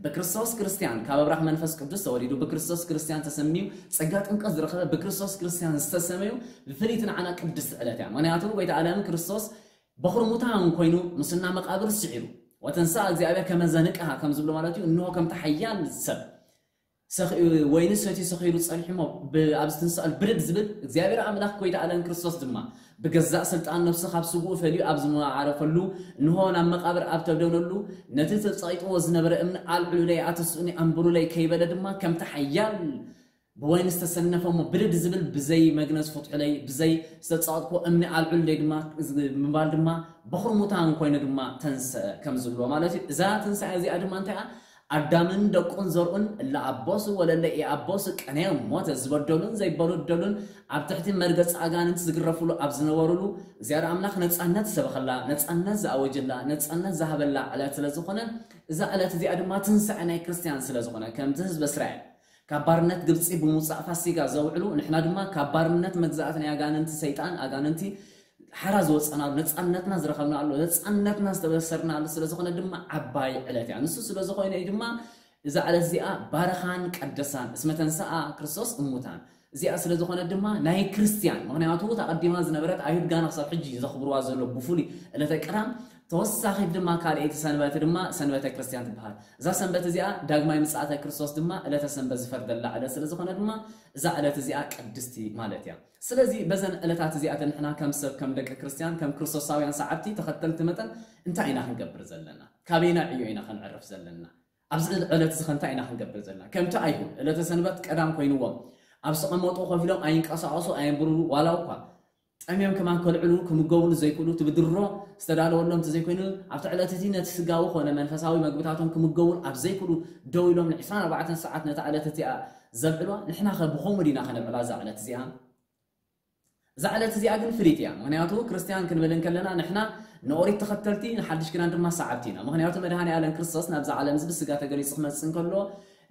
ብክርስቶስ ክርስቲያን፣ ካብ ኣብራኽ መንፈስ ቅዱስ ተወሊዱ፣ ብክርስቶስ ክርስቲያን ተሰምዩ፣ ጸጋ ጥምቀት ዝረኸበ፣ ብክርስቶስ ክርስቲያን ዝተሰመዩ፣ ብፍልይቲ ንዓና ቅድስቲ ዕለት እያ። ምኽንያቱ ጎይታ ዓለም ክርስቶስ በኹሪ ሙታን ኮይኑ፣ ምስና መቃብር ስዒሩ፣ ወተንሥአ እግዚኣብሔር ከመ ዘንቅሃ ከም ዝብሎ ማለት እዩ፣ እንሆ ከምቲ ሓያል ሰብ ሰኺ- ወይኒ ሰትዩ ሰኺሩ ጸኒሑ እሞ ብ- ኣብዚ ትንሳኤ ብድድ ዝብል እግዚኣብሔር ኣምላኽ ጎይታ ኣለን ክርስቶስ ድማ ብገዛእ ስልጣን ነፍሱ ካብ ስግኡ ፈልዩ ኣብ ዝመዓረፈሉ፣ እንሆ ናብ መቓብር ኣብ ተደብደበሉ፣ ነቲ ተጸቒጥዎ ዝነበረ እምኒ ኣልዕሉለይ ኣተስኡኒ ኣንብሩለይ ከይበለ ድማ ከምቲ ሓያል ብወይኒ ዝተሰነፈ እሞ ብድድ ዝብል ብዘይ መግነዝ ፍትሑለይ፣ ብዘይ ዝተጸቐጥኩዎ እምኒ ኣልዕሉለይ ድማ ብምባል ድማ በኹሪ ሙታን ኮይኑ ድማ ተንስአ ከም ዝብሎ ማለት እዩ። እዛ ትንሳኤ እዚኣ ድማ እንታይ እያ? ኣዳምን ደቁን ዘርኡን እለ ኣቦሱ ወለለ ኢኣቦሱ ቀነዮም ሞተ ዝበደሉን ዘይበደሉን ኣብ ትሕቲ መርገፂ ኣጋንንቲ ዝግረፍሉ ኣብ ዝነበሩሉ እግዚኣብሔር ኣምላኽ ነፃነት ዝሰበኸላ፣ ነፃነት ዝኣወጀላ፣ ነፃነት ዝሃበላ ዕለት ስለ ዝኾነ እዛ ዕለት እዚኣ ድማ ትንሳኤ ናይ ክርስቲያን ስለ ዝኾነ ከምቲ ህዝበ እስራኤል ካብ ባርነት ግብፂ ብምውፃእ ፋሲጋ ዘውዕሉ ንሕና ድማ ካብ ባርነት መግዛእቲ ናይ ኣጋንንቲ ሰይጣን ኣጋንንቲ ሓራ ዝወፀናሉ ነፃነትና ዝረኸብናሉ ነፃነትና ዝተበሰርናሉ ስለ ዝኾነ ድማ ዓባይ ዕለት እያ። ንሱ ስለ ዝኾነ እዩ ድማ እዛ ዕለት እዚኣ ባረኻን ቀደሳን እስመ ተንሰኣ ክርስቶስ እሙታን እዚኣ ስለ ዝኾነ ድማ ናይ ክርስቲያን ምክንያቱ ተቐዲማ ዝነበረት ኣይሁድ ጋና ክሳብ ሕጂ ዘኽብርዋ ዘሎ ብፍሉይ ዕለተ ቀዳም ተወሳኺ ድማ ካልኣይቲ ሰንበት ድማ ሰንበተ ክርስቲያን ትበሃል። እዛ ሰንበት እዚኣ ዳግማይ ምጽኣተ ክርስቶስ ድማ ዕለተ ሰንበት ዝፈርደላ ዕለት ስለ ዝኾነ ድማ እዛ ዕለት እዚኣ ቅድስቲ ማለት እያ። ስለዚ በዘን ዕለታት እዚኣተን ንሕና ከም ሰብ ከም ደቂ ክርስቲያን ከም ክርስቶሳውያን ሰዓብቲ ተኸተልቲ መጠን እንታይ ኢና ክንገብር ዘለና? ካበይና ዕዮ ኢና ክንዕርፍ ዘለና? ኣብዚ ዕለት እዚ ከ እንታይ ኢና ክንገብር ዘለና? ከምቲ ኣይሁድ ዕለተ ሰንበት ቀዳም ኮይንዎም ኣብ ዝቐመጡ ኮፍ ኢሎም ኣይንቀሳቐሱ ኣየንብሩ ዋላ እኳ ጠምዮም ከማን ከልዕሉ ክምገቡሉ ዘይክእሉ እቲ ብድሮ ዝተዳለወሎም እንተዘይኮይኑ ኣብቲ ዕለት እቲ ነቲ ስጋዊ ኮነ መንፈሳዊ መግብታቶም ክምገቡሉ ኣብ ዘይክእሉ ደው ኢሎም ን24 ሰዓት ነታ ዕለት እቲኣ ዘብዕልዋ ንሕና ከ ብኸምኡ ዲና ከነብዕላ እዛ ዕለት እዚኣ? እዛ ዕለት እዚኣ ግን ፍልይቲ እያ። ምክንያቱ ክርስትያን ክንብል እንከለና ንሕና ንኦሪት ተኸተልቲ ንሓድሽ ኪዳን ድማ ሰዓብቲ ኢና። ምክንያቱ መድሃኒ ኣለም ክርስቶስ ናብዛ ዓለም እዚ ብስጋ ተገሊጹ ክመጽእ እንከሎ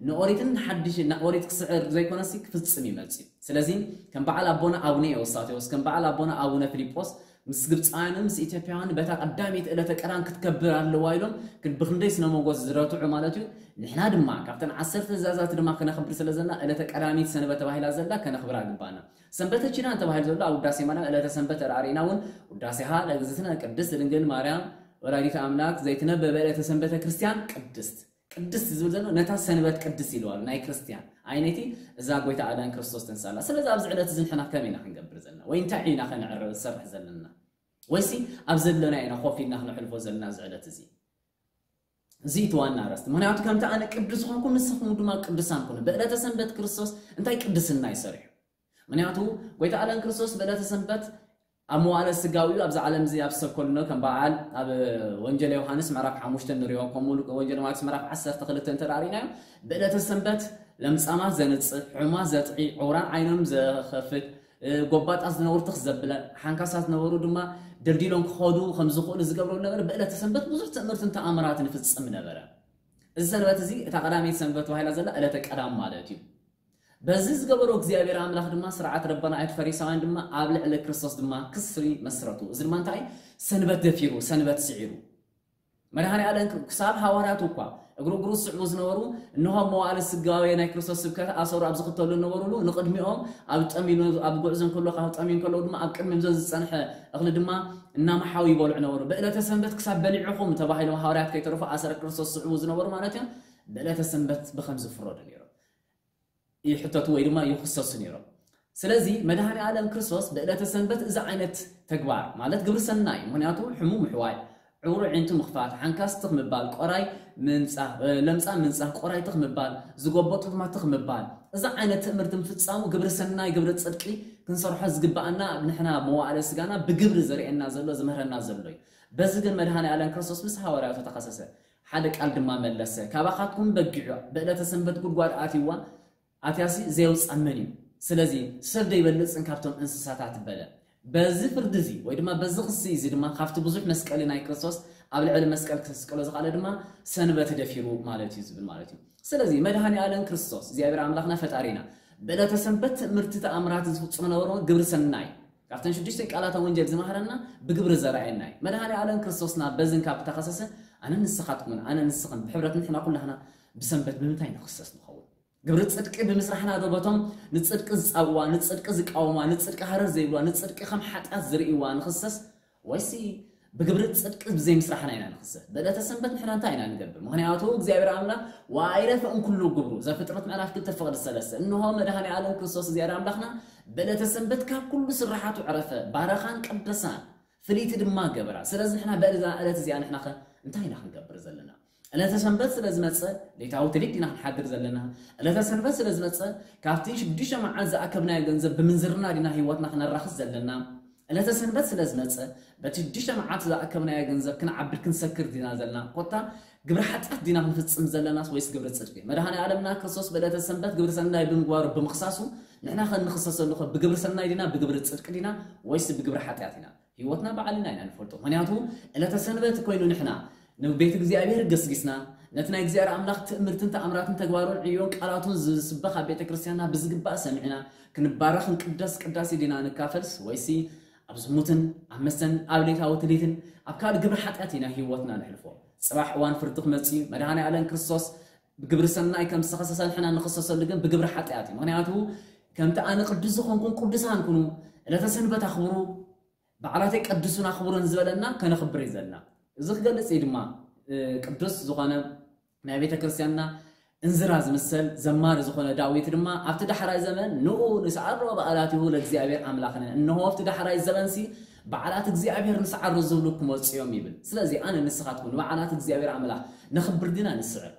ንኦሪትን ሓድሽ ኦሪት ክስዕር ዘይኮነሲ ክፍጽም ይመጽእ እዩ። ስለዚ ከም በዓል ኣቦና ኣቡነ ኤዎስጣቴዎስ ከም በዓል ኣቦና ኣቡነ ፊልጶስ ምስ ግብፃውያንን ምስ ኢትዮጵያውያን በታ ቀዳሚት ዕለተ ቀዳም ክትከብር ኣለዋ ኢሎም ብክንደይ ስነ መጎስ ዝረትዑ ማለት እዩ። ንሕና ድማ ካብተን ዓሰርተ ትእዛዛት ድማ ከነኽብር ስለ ዘለና ዕለተ ቀዳሚት ሰንበት ተባሂላ ዘላ ከነኽብራ ግባና። ሰንበተ ኪዳን ተባሂሉ ዘሎ ኣብ ውዳሴ ማርያም ዕለተ ሰንበት ተራእሪና እውን ውዳሴሃ ለእግዝእትነ ቅድስት ድንግል ማርያም ወላዲተ ኣምላክ ዘይትነበበ ዕለተ ሰንበተ ክርስቲያን ቅድስት ቅድስት ዝብል ዘሎ ነታ ሰንበት ቅድስት ኢለዋል ናይ ክርስቲያን ኣይነይቲ እዛ ጎይታ ኣዳን ክርስቶስ ተንሳላ። ስለዚ ኣብዚ ዕለት እዚ ንሕና ከመይ ኢና ክንገብር ዘለና ወይ እንታይ ኢና ከነዕርብ ዝሰርሕ ዘለና ወይሲ ኣብ ዘለና ኢና ኮፍ ኢልና ክነሕልፎ ዘለና እዚ ዕለት እዚ? እዚ እቲ ዋና ኣርእስቲ። ምክንያቱ ከምቲ ኣነ ቅዱስ ዝኾንኩ ንስኹም ድማ ቅዱሳን ኩኑ። ብዕለተ ሰንበት ክርስቶስ እንታይ ቅድስና ይሰርሑ? ምክንያቱ ጎይታ ኣዳን ክርስቶስ ብዕለተ ሰንበት ኣብ መዋእለ ስጋዊ ኣብዚ ዓለም እዚ ኣብ ሰብ ከሎ ከም በዓል ኣብ ወንጀል ዮሃንስ ምዕራፍ ሓሙሽተ ንሪኦ ከምኡ ወንጀል ማቴዎስ ምዕራፍ ዓሰርተ ክልተ እንተ ርኢናዮ ብዕለተ ሰንበት ለምጻማት ዘንጽህ ሕሙማት ዘጥዒ ዕውራን ዓይኖም ዘኸፍት ጎባጣት ዝነበሩ ትኽ ዘብለን ሓንካሳት ዝነበሩ ድማ ደልዲሎም ክኸዱ ከም ዝኽእሉ ዝገብሮ ነበረ። ብዕለተ ሰንበት ብዙሕ ትእምርትን ተኣምራትን ይፍጽም ነበረ። እዚ ሰንበት እዚ እታ ቀዳመይቲ ሰንበት ተባሂላ ዘላ ዕለተ ቀዳም ማለት እዩ። በዚ ዝገበሮ እግዚኣብሔር ኣምላኽ ድማ ስርዓት ረበናይት ፈሪሳውያን ድማ ኣብ ልዕሊ ክርስቶስ ድማ ክስሪ መስረቱ። እዚ ድማ እንታይ ሰንበት ደፊሩ ሰንበት ስዒሩ መድሃኒ ኣለም ክሳብ ሃዋርያቱ እኳ እግሩ እግሩ ዝስዕቡ ዝነበሩ እንሆ መዋእለ ስጋዊ ናይ ክርስቶስ ስብከት ኣሰሩ ኣብ ዝኽተሉ ነበሩሉ ንቕድሚኦም ኣብ ጠሚሉ ኣብ ጉዕዞ እንከሎ ካብ ጠሚዩ እንከሎ ድማ ኣብ ቅድሚኦም ዘሎ ዝጸንሐ እኽሊ ድማ እናመሓው ይበልዑ ነበሩ። ብዕለተ ሰንበት ክሳብ በሊዕኹም ተባሂሎም ሃዋርያት ከይተረፉ ኣሰረ ክርስቶስ ዝስዕቡ ዝነበሩ ማለት እዮም። ብዕለተ ሰንበት ብኸም ዝፍረዱ ነይሮም ይሕተቱ ወይ ድማ ይኽሰሱ ነይሮም። ስለዚ መድሃኒ ኣለም ክርስቶስ ብዕለተ ሰንበት እዚ ዓይነት ተግባር ማለት ግብሪ ሰናይ ምክንያቱ ሕሙ ምሕዋይ ዕውሩ ዒንቱ ምኽፋት ሓንካስ ትኽ ምባል ቆራይ ምንጻህ ለምጻ ምንጻህ ቆራይ ትኽ ምባል ዝጎበጡ ድማ ትኽ ምባል እዚ ዓይነት ትእምርቲ ምፍጻሙ ግብሪ ሰናይ ግብሪ ጽድቂ ክንሰርሖ ዝግባኣና ንሕና መዋእለ ስጋና ብግብሪ ዘርእየና ዘሎ ዝምህረና ዘሎ እዩ። በዚ ግን መድሃኒ ኣለም ክርስቶስ ምስ ሃዋርያቱ ተኸሰሰ ሓደ ቃል ድማ መለሰ ካባኻትኩም በጊዑ ብዕለተ ሰንበት ጉድጓድ ኣትይዋ ኣትያሲ ዘየውፅኣ መን እዩ? ስለዚ ሰብ ዶ ይበልፅን ካብቶም እንስሳታት በለ። በዚ ፍርዲ እዚ ወይ ድማ በዚ ክሲ እዚ ድማ ካብቲ ብዙሕ መስቀሊ ናይ ክርስቶስ ኣብ ልዕሊ መስቀል ክስቀሎ ዝኽኣለ ድማ ሰንበት ደፊሩ ማለት እዩ ዝብል ማለት እዩ። ስለዚ መድሃኒ ኣለም ክርስቶስ እግዚኣብሔር ኣምላኽና ፈጣሪና ብዕለተ ሰንበት ትእምርቲ ተኣምራት ዝፍፅሙ ነበሩ ግብሪ ሰናይ ካብተን ሽዱሽተ ቃላተ ወንጀል ዝመሃረና ብግብሪ ዘርኣየና እዩ። መድሃኒ ኣለም ክርስቶስና በዝን ካብ ተኸሰሰ ኣነ ንስኻትኩምን ኣነ ንስኽን ብሕብረት ንሕና ኩላህና ብሰንበት ብምንታይ ንኽሰስ ንኸውን? ግብሪ ጽድቂ ብምስራሕና ዶ በቶም ንጽድቂ ዝጻብዋ ንጽድቂ ዝቃወማ ንጽድቂ ሃረር ዘይብልዋ ንጽድቂ ከም ሓጢኣት ዝርእይዋ ንኽሰስ ወይሲ ብግብሪ ጽድቂ ብዘይምስራሕና ኢና ንኽሰስ። በዕለተ ሰንበት ንሕና እንታይ ኢና ንገብር? ምኽንያቱ እግዚኣብሔር ኣምላኽ "ወኣይረፈ እምኩሉ ግብሩ" ዘፍጥረት ምዕራፍ ክልተ ፍቕዲ ሰለስተ። እንሆ መድኃኔ ዓለም ክርስቶስ እግዚኣብሔር ኣምላኽና በዕለተ ሰንበት ካብ ኩሉ ስራሓቱ ዕረፈ፣ ባረኻን ቀደሳን ፍልይቲ ድማ ገበራ። ስለዚ ንሕና በዛ ዕለት እዚኣ ንሕና ኸ እንታይ ኢና ክንገብር ዘለና? ዕለተ ሰንበት ስለ ዝመጸ ሌታዊ ትልሂት ዲና ክንሓድር ዘለና? ዕለተ ሰንበት ስለ ዝመጸ ካብቲ ሽዱሽተ መዓልቲ ዝኣከብናዮ ገንዘብ ብምንዝርና ዲና ህይወትና ክነራኽስ ዘለና? ዕለተ ሰንበት ስለ ዝመጸ በቲ ሽዱሽተ መዓልቲ ዝኣከብናዮ ገንዘብ ክንዓብድ ክንሰክር ዲና ዘለና? ኮታ ግብሪ ሓጢኣት ዲና ክንፍጽም ዘለናስ ወይስ ግብሪ ጽድቂ? መድኃኔ ዓለምና ክርስቶስ በዕለተ ሰንበት ግብሪ ሰናይ ብምግባሩ ብምኽሳሱ ንሕና ከንኽሰሰሉ ኸ ብግብሪ ሰናይ ዲና ብግብሪ ጽድቂ ዲና ወይስ ብግብሪ ሓጢኣት ኢና? ህይወትና ባዕልና ኢና ንፈልጦ። ምኽንያቱ ዕለተ ሰንበት ኮይኑ ንሕና ንቤት እግዚኣብሔር ገስጊስና ነቲ ናይ እግዚኣብሔር ኣምላኽ ትእምርትን ተኣምራትን ተግባሩን ዕዮን ቃላቱን ዝስበኽ ኣብ ቤተ ክርስቲያንና ብዝግባእ ሰሚዕና ክንባረኽ ክንቅደስ ቅዳሴ ዲና ንካፈልስ ወይሲ ኣብ ዝሙትን ኣብ መስተን ኣብ ሌታዊ ትልሂትን ኣብ ካልእ ግብሪ ሓጢኣት ኢና ህይወትና ነሕልፎ። ጽባሕ እዋን ፍርዲ ክመጽእ እዩ። መድኃኔ ዓለም ክርስቶስ ብግብሪ ሰናይ ከም ዝተኸሰሰ ንሕና ንኽሰሰሉ ግን ብግብሪ ሓጢኣት እዩ። ምኽንያቱ ከምቲ ኣነ ቅዱስ ዝኾንኩን ቅዱሳን ኩኑ፣ ዕለተ ሰንበት ኣኽብሩ፣ በዓላተይ ቀድሱን ኣኽብሩን ዝበለና ከነኽብር እዩ ዘለና። እዚ ክገልጽ እዩ ድማ እ፣ ቅዱስ ዝኾነ ናይ ቤተ ክርስቲያንና እንዝራ ዝምሰል ዘማሪ ዝኾነ ዳዊት ድማ ኣብቲ ዳሕራይ ዘመን ንኡ ንስዓሮ በዓላቲሁ ለእግዚኣብሔር ኣምላኽነ፣ እንሆ ኣብቲ ዳሕራይ ዘመንሲ በዓላት እግዚኣብሔር ንስዓሮ ዝብሉ ክመጹ እዮም ይብል። ስለዚ ኣነ ንስኻትኩም ንበዓላት እግዚኣብሔር ኣምላኽ ነኽብር ዲና ንስዕር?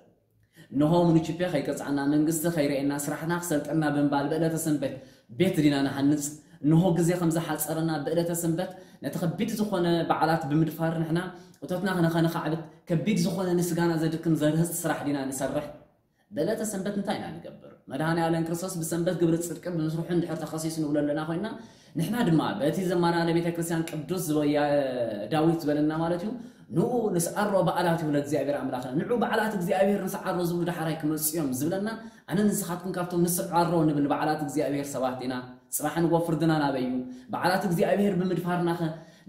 እንሆ ሙኒቺፔ ከይቀጽዓና መንግስቲ ከይርእየና ስራሕና ክሰልጠና ብምባል ብዕለተ ሰንበት ቤት ዲና ንሃንጽ? እንሆ ግዜ ከም ዝሓጸረና ብዕለተ ሰንበት ነቲ ከቢድ ዝኾነ በዓላት ብምድፋር ንሕና እቶትና ከነኸነኻዕብት ከቢድ ዝኾነ ንስጋና ዘድክም ዘርህጽ ስራሕ ዲና ንሰርሕ? ብዕለተ ሰንበት እንታይ ኢና ንገብር? መድኃኔ ዓለም ክርስቶስ ብሰንበት ግብሪ ጽድቂ ብምስርሑ እንድሕር ተኸሲሱ ንብሎ ኣለና ኮይና ንሕና ድማ በቲ ዘማሪ ቤተ ክርስቲያን ቅዱስ ዝበያ ዳዊት ዝበለና ማለት እዩ ንኡ ንስዓሮ በዓላት ይብለ እግዚኣብሔር ኣምላኽና ንዑ በዓላት እግዚኣብሔር ንስዓሮ ዝብሉ ዳሕራይ ክመጽኡ እዮም ዝብለና ኣነ ንስኻትኩም ካብቶም ንስዓሮ ንብል በዓላት እግዚኣብሔር ሰባት ኢና ጽባሕ ንጎ ፍርድና ናበይ እዩ በዓላት እግዚኣብሔር ብምድፋርናኸ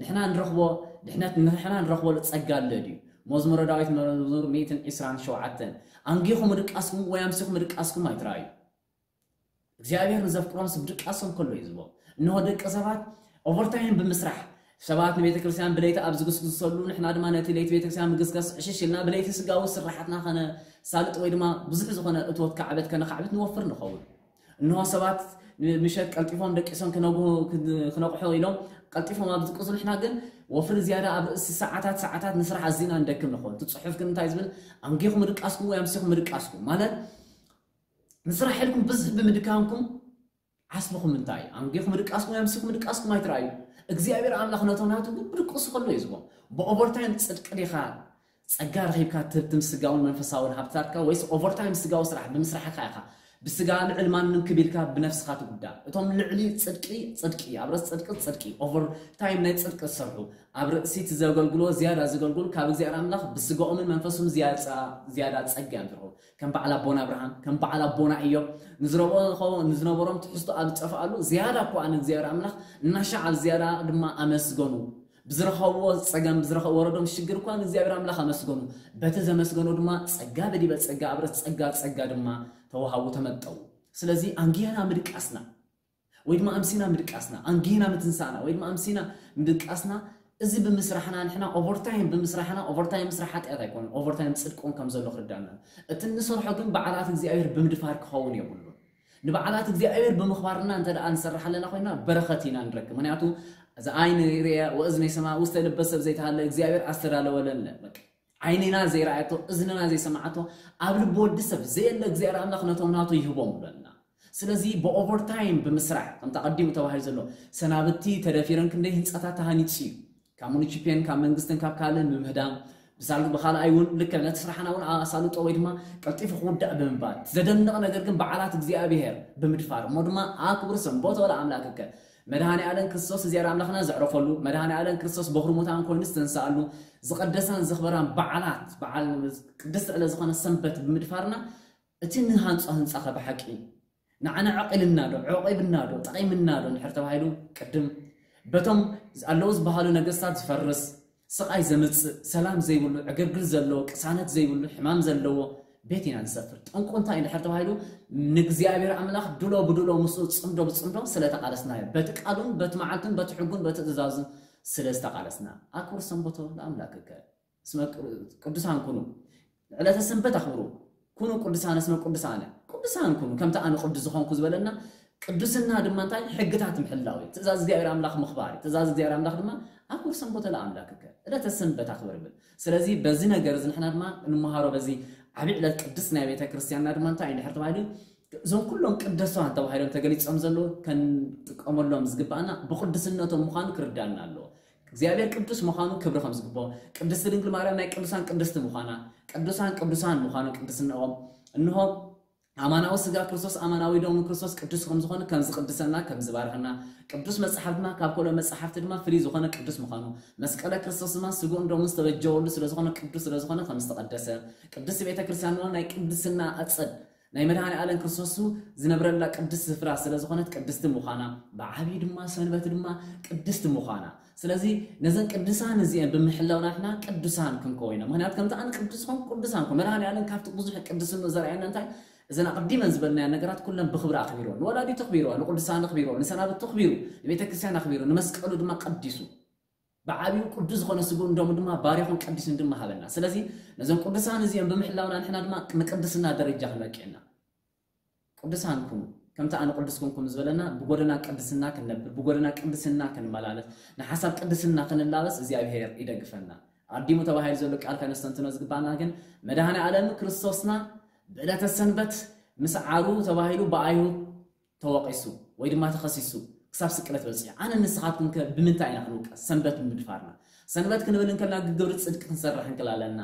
ንሕና ንረኽቦ ድሕነት ንሕና ንረኽቦ ጸጋ ኣሎ ድዩ መዝሙረ ዳዊት መዝሙር ሚእትን ዕስራን ሸውዓተን ኣንጊኹም ድቃስኩም ወይ ኣምሲኹም ድቃስኩም ኣይትረኣዩ እግዚኣብሔር ንዘፍቅሮም ስብ ድቃሶም ከሎ እዩ ዝቦ እንሆ ደቂ ሰባት ኦቨርታይም ብምስራሕ ሰባት ንቤተ ክርስቲያን ብለይቲ ኣብ ዝግስግሰሉ ንሕና ድማ ነቲ ለይቲ ቤተ ክርስቲያን ምግስጋስ ዕሽሽ ኢልና ብለይቲ ስጋዊ ስራሓትና ከነሳልጥ ወይ ድማ ብዙሕ ዝኾነ እትወት ካዕበት ከነካዕብት ንወፍር ንኸውን እንሆ ሰባት ምሸት ቀልጢፎም ደቂሶም ክነግሁ ክነቕሑ ኢሎም ቀልጢፎም ኣብ ዝቅሱ ንሕና ግን ወፍሪ ዝያዳ ኣብ ርእሲ ሰዓታት ሰዓታት ንስራሕ ኣዚና ንደክም ንኸውን እቲ ፅሑፍ ግን እንታይ ዝብል ኣንጊኹም ድቃስኩም ወይ ኣምሲኹም ድቃስኩም ማለት ንስራሕ ኢልኩም ብዝሕ ብምድካምኩም ዓስብኹም እንታይ እዩ ኣንጊኹም ድቃስኩም ወይ ኣምሲኹም ድቃስኩም ኣይትረኣዩ እግዚኣብሔር ኣምላኽ ነቶም ናቱ ግን ብድቅሱ ከሎ እዩ ዝቦም ብኦቨርታይም ፅድቂ ዲኻ ጸጋ ረኺብካ ትህብትም ስጋውን መንፈሳውን ሃብትታትካ ወይስ ኦቨርታይም ስጋዊ ስራሕ ብምስራሕካ ኢኻ ብስጋ ልዕል ማንም ክቢልካ ብነፍስኻ ትጉዳእ እቶም ልዕሊ ጽድቂ ጽድቂ ኣብ ርእሲ ጽድቂ ጽድቂ ኦቨርታይም ናይ ጽድቂ ዝሰርሑ ኣብ ርእሲ እቲ ዘገልግሎ ዝያዳ ዘገልግሉ ካብ እግዚኣብሔር ኣምላኽ ብስጋኦምን መንፈሶም ዝያዳ ጸጋ እዮም ዝረኽቡ ከም በዓል ኣቦና ኣብርሃም ከም በዓል ኣቦና እዮም ንዝረብኦ ንዝነበሮም ትሕዝቶ ኣብ ዝጠፍኣሉ ዝያዳ እኳ ንእግዚኣብሔር ኣምላኽ እናሻዕ ኣብ ዝያዳ ድማ ኣመስገኑ ብዝረኸብዎ ጸገም ብዝረኸብ ወረዶም ሽግር እኳ ንእግዚኣብሔር ኣምላኽ ኣመስገኑ በቲ ዘመስገኑ ድማ ጸጋ በዲበ ጸጋ ኣብ ርእሲ ጸጋ ጸጋ ድማ ተዋሃቡ ተመጠው ስለዚ ኣንጊህና ምድቃስና ወይ ድማ ኣምሲና ምድቃስና ኣንጊህና ምትንሳእና ወይ ድማ ኣምሲና ምድቃስና እዚ ብምስራሕና ንሕና ኦቨርታይም ብምስራሕና ኦቨርታይም ምስራሕ ሓጢኣት ኣይኮነን ኦቨርታይም ፅድቂ እውን ከም ዘሎ ክርዳና እቲ እንሰርሖ ግን በዓላት እግዚኣብሔር ብምድፋር ክኸውን የብሉን ንበዓላት እግዚኣብሔር ብምኽባርና እንተ ደኣ ንሰርሕ ኣለና ኮይና በረኸት ኢና ንረክብ ምክንያቱ እዚ ዓይን ርእያ ወእዝኒ ሰማ ውስተ ልበ ሰብ ዘይተሃለ እግዚኣብሔር ኣስተዳለወለነ በቃ ዓይንና ዘይረኣየቶ እዝንና ዘይሰማዓቶ ኣብ ልቢ ወዲ ሰብ ዘየለ እግዚኣብሔር ኣምላኽ ነቶም ናቱ ይህቦም ብለና ስለዚ ብኦቨርታይም ብምስራሕ ከምቲ ኣቐዲሙ ተባሂሉ ዘሎ ሰናብቲ ተደፊረን ክንደይ ህንፃታት ተሃኒፁ እዩ ካብ ሙኒቺፔን ካብ መንግስትን ካብ ካልእን ብምህዳም ብሳል ብኻልኣይ እውን ልክዕ ነቲ ስራሕና እውን ኣሳልጦ ወይ ድማ ቀልጢፉ ክውዳእ ብምባል ዘደንቕ ነገር ግን በዓላት እግዚኣብሔር ብምድፋር እሞ ድማ ኣክብር ሰንቦተ ለኣምላክከ መድኃኔ ዓለም ክርስቶስ እግዚኣብሔር ኣምላኽና ዘዕረፈሉ መድኃኔ ዓለም ክርስቶስ በኹሪ ሙታን ኮይኑ ዝተንስኣሉ ዝቐደሳን ዘኽበራን በዓላት በዓል ቅድስቲ ዕለት ዝኾነ ሰንበት ብምድፋርና እቲ ንሃንጾ ህንጻ ከ ብሓቂ ንዓና ዕቒልና ዶ ዕቒብና ዶ ጠቒምና ዶ እንድሕር ተባሂሉ ቅድም በቶም ኣለዉ ዝበሃሉ ነገስታት ዝፈርስ ስቓይ ዘምጽእ ሰላም ዘይብሉ ዕግርግር ዘለዎ ቅሳነት ዘይብሉ ሕማም ዘለዎ ቤት ኢና ንሰፍር። ጠንቁ እንታይ እንድሕር ተባሂሉ ንእግዚኣብሔር ኣምላኽ ድሎ ብድሎ ምስኡ ጽምዶ ብጽምዶ ስለ ተቓለስናዮ በቲ ቃሉን በቲ መዓልቱን በቲ ሕጉን በቲ ትእዛዙን ስለ ዝተቓለስና ኣክብር ሰንበቶ ለኣምላክከ እስመ ቅዱሳን ኩኑ፣ ዕለተ ሰንበት ኣኽብሩ። ኩኑ ቅዱሳን እስመ ቅዱሳነ፣ ቅዱሳን ኩኑ ከምቲ ኣነ ቅዱስ ዝኾንኩ ዝበለና፣ ቅዱስና ድማ እንታይ? ሕግታት ምሕላው እዩ። ትእዛዝ እግዚኣብሔር ኣምላኽ ምኽባር እዩ። ትእዛዝ እግዚኣብሔር ኣምላኽ ድማ ኣክብር ሰንበተ ለኣምላክከ፣ ዕለተ ሰንበት ኣኽብር ይብል። ስለዚ በዚ ነገር እዚ ንሕና ድማ እንመሃሮ፣ በዚ ዓብዪ ዕለት ቅድስት ናይ ቤተ ክርስቲያንና ድማ እንታይ እዩ እንድሕር ተባሂሉ፣ እዞም ኩሎም ቅዱሳን ተባሂሎም ተገሊጾም ዘለዉ ከንጥቀመሎም ዝግባኣና ብቅዱስነቶም ምዃኑ ክርዳና ኣለዎ። እግዚኣብሔር ቅዱስ ምዃኑ ክብሪ ከም ዝግብኦ፣ ቅድስቲ ድንግል ማርያም ናይ ቅዱሳን ቅድስቲ ምዃና፣ ቅዱሳን ቅዱሳን ምዃኑ ቅድስናኦም፣ እንሆ ኣማናዊ ስጋ ክርስቶስ ኣማናዊ ደሙ ክርስቶስ ቅዱስ ከም ዝኾነ ከም ዝቅድሰና ከም ዝባርኸና፣ ቅዱስ መጽሓፍ ድማ ካብ ካልኦ መጽሓፍቲ ድማ ፍልይ ዝኾነ ቅዱስ ምዃኑ፣ መስቀለ ክርስቶስ ድማ ስግኡን ደሙን ዝተበጀወሉ ስለ ዝኾነ ቅዱስ ስለ ዝኾነ ከም ዝተቐደሰ፣ ቅድስቲ ቤተ ክርስቲያን ድማ ናይ ቅድስና ኣጸድ ናይ መድኃኔ ዓለም ክርስቶስ ዝነብረላ ቅድስቲ ስፍራ ስለ ዝኾነት ቅድስቲ ምዃና፣ ብዓብዪ ድማ ሰንበት ድማ ቅድስቲ ምዃና። ስለዚ ነዘን ቅዱሳን እዚአን ብምሕላው ናትና ቅዱሳን ክንከውን ኢና። ምኽንያቱ ከምቲ ኣነ ቅዱስ ኾንኩ ቅዱሳን ኮ መድኃኔ ዓለም ካብቲ ብዙሕ ቅድስና ዘርኣየና እንታይ? እዘን ኣቐዲመን ዝበልናዮ ነገራት ኩለን ብኽብሪ ኣኽቢርዎ፣ ንወላዲቱ ኣኽቢርዎ፣ ንቅዱሳን ኣኽቢርዎ፣ ንሰናብቱ ኣኽቢሩ፣ ንቤተ ክርስቲያን ኣኽቢሩ፣ ንመስቀሉ ድማ ቀዲሱ፣ ብዓብዩ ቅዱስ ዝኾነ ስግኡን ደሙን ድማ ባሪኹን ቀዲሱን ድማ ሃበና። ስለዚ ነዞም ቅዱሳን እዚኦም ብምሕላውና ንሕና ድማ ንቅድስና ደረጃ ክንበቅዕ ኢና። ቅዱሳን ኩኑ ከምቲ ኣነ ቅዱስ ኩንኩም ዝበለና ብጎደና ቅድስና ክንነብር፣ ብጎደና ቅድስና ክንመላለስ፣ ንሓሳብ ቅድስና ክንላበስ እግዚኣብሔር ይደግፈና። ኣዲሙ ተባሂሉ ዘሎ ቃል ከነስተንትኖ ዝግባና ግን መድኃኔ ዓለም ክርስቶስና ብዕለተ ሰንበት ምስዓሩ ተባሂሉ ብኣይሁድ ተወቒሱ ወይ ድማ ተኸሲሱ ክሳብ ስቅለት በጺሑ። ኣነ ንስኻትኩም ከ ብምንታይ ኢና ክንውቀስ? ሰንበት ብምድፋርና። ሰንበት ክንብል እንከልና ግብሪ ጽድቂ ክንሰርሕ እንክል ኣለና።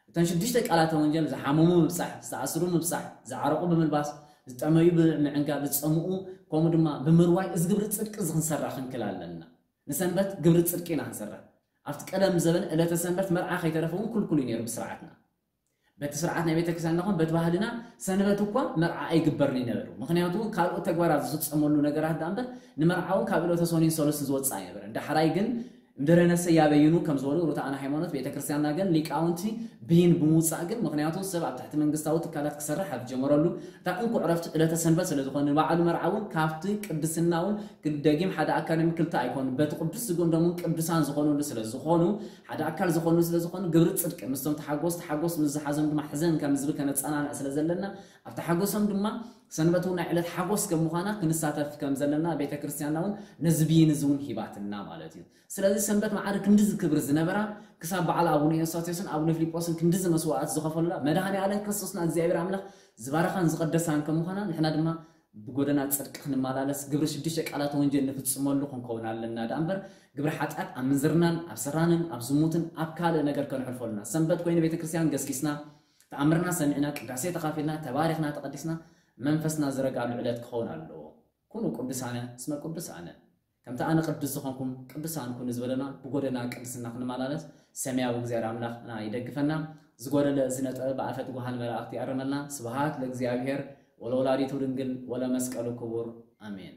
እተን ሽዱሽተ ቃላተ ወንጀል ዝሓመሙ ምብጻሕ፣ ዝተኣስሩ ምብጻሕ፣ ዝዓረቑ ብምልባስ፣ ዝጠመዩ ብምዕንጋል፣ ዝጸምኡ ከምኡ ድማ ብምርዋይ እዚ ግብሪ ጽድቂ እዚ ክንሰርሕ ክንክል ኣለና። ንሰንበት ግብሪ ጽድቂ ኢና ክንሰርሕ። ኣብቲ ቀደም ዘበን ዕለተ ሰንበት መርዓ ከይተረፈ እውን ክልኩል እዩ ነይሩ ብስርዓትና። በቲ ስርዓት ናይ ቤተክርስትያን ንኹን በቲ ባህልና ሰንበት እኳ መርዓ ኣይግበርን እዩ ነበሩ። ምኽንያቱ ካልኦት ተግባራት ዝፍጸመሉ ነገራት ዳ እምበር ንመርዓ እውን ካብ ዕለተ ሰኑይን ሰሉስን ዝወፅእ ኣይነበረን። ዳሕራይ ግን እንደረነሰ ያበይኑ ከም ዝበሉ ርቱዓን ሃይማኖት ቤተክርስትያንና ግን ሊቃውንቲ ብይን ብምውፃእ ግን ምኽንያቱ ሰብ ኣብ ትሕቲ መንግስታዊ ትካላት ክሰርሕ ኣብ ዝጀመረሉ እታ እንኩ ዕረፍቲ ዕለተ ሰንበት ስለ ዝኾነ ንባዕሉ መርዓ እውን ካብቲ ቅድስና እውን ደጊም ሓደ ኣካል እዮም ክልተ ኣይኮኑ በቲ ቅዱስ ስግኡን ደሙን ቅዱሳን ዝኾኑሉ ስለ ዝኾኑ ሓደ ኣካል ዝኾኑ ስለ ዝኾኑ ግብሪ ጽድቂ ምስቶም ተሓጎስ ተሓጎስ ምስ ዝሓዞም ድማ ሕዘን ከም ዝብል ከነጸናንዕ ስለ ዘለና ኣብቲ ሓጎሶም ድማ ሰንበት እውን ናይ ዕለት ሓጎስ ከም ምዃና ክንሳተፍ ከም ዘለና ቤተ ክርስቲያንና እውን ነዚ ብይን እዚ እውን ሂባትና ማለት እዩ። ስለዚ ሰንበት ማዕረ ክንድዚ ክብሪ ዝነበራ ክሳብ በዓል ኣቡነ ኤዎስጣቴዎስን ኣቡነ ፊልጶስን ክንድዚ መስዋዕት ዝኸፈሉላ መድኃኔ ዓለም ክርስቶስና እግዚኣብሔር ኣምላኽ ዝባረኻን ዝቐደሳን ከም ምዃና ንሕና ድማ ብጎደና ጽድቂ ክንመላለስ ግብሪ ሽዱሽተ ቃላት ወንጀል ንፍጽመሉ ክንከውን ኣለና ደኣ እምበር ግብሪ ሓጢኣት ኣብ ምንዝርናን ኣብ ሰራንን ኣብ ዝሙትን ኣብ ካልእ ነገር ከነሕልፎ ኣለና። ሰንበት ኮይኑ ቤተ ክርስቲያን ገስጊስና ተኣምርና ሰሚዕና ቅዳሴ ተኻፊልና ተባሪኽና ተቐዲስና መንፈስና ዝረጋሉ ዕለት ክኸውን ኣለዎ። ኩኑ ቅዱሳነ እስመ ቅዱስ ኣነ። ከምቲ ኣነ ቅዱስ ዝኾንኩም ቅዱሳን ኩኑ ዝበለና ብጎደና ቅድስና ክንመላለስ ሰማያዊ እግዚኣብሔር ኣምላኽና ይደግፈና። ዝጎደለ እዚ ነጥበ ብኣፈ ትጉሃን መላእኽቲ ይኣርመልና። ስብሃት ለእግዚኣብሔር ወለወላዲቱ ድንግል ወለመስቀሉ ክቡር ኣሜን።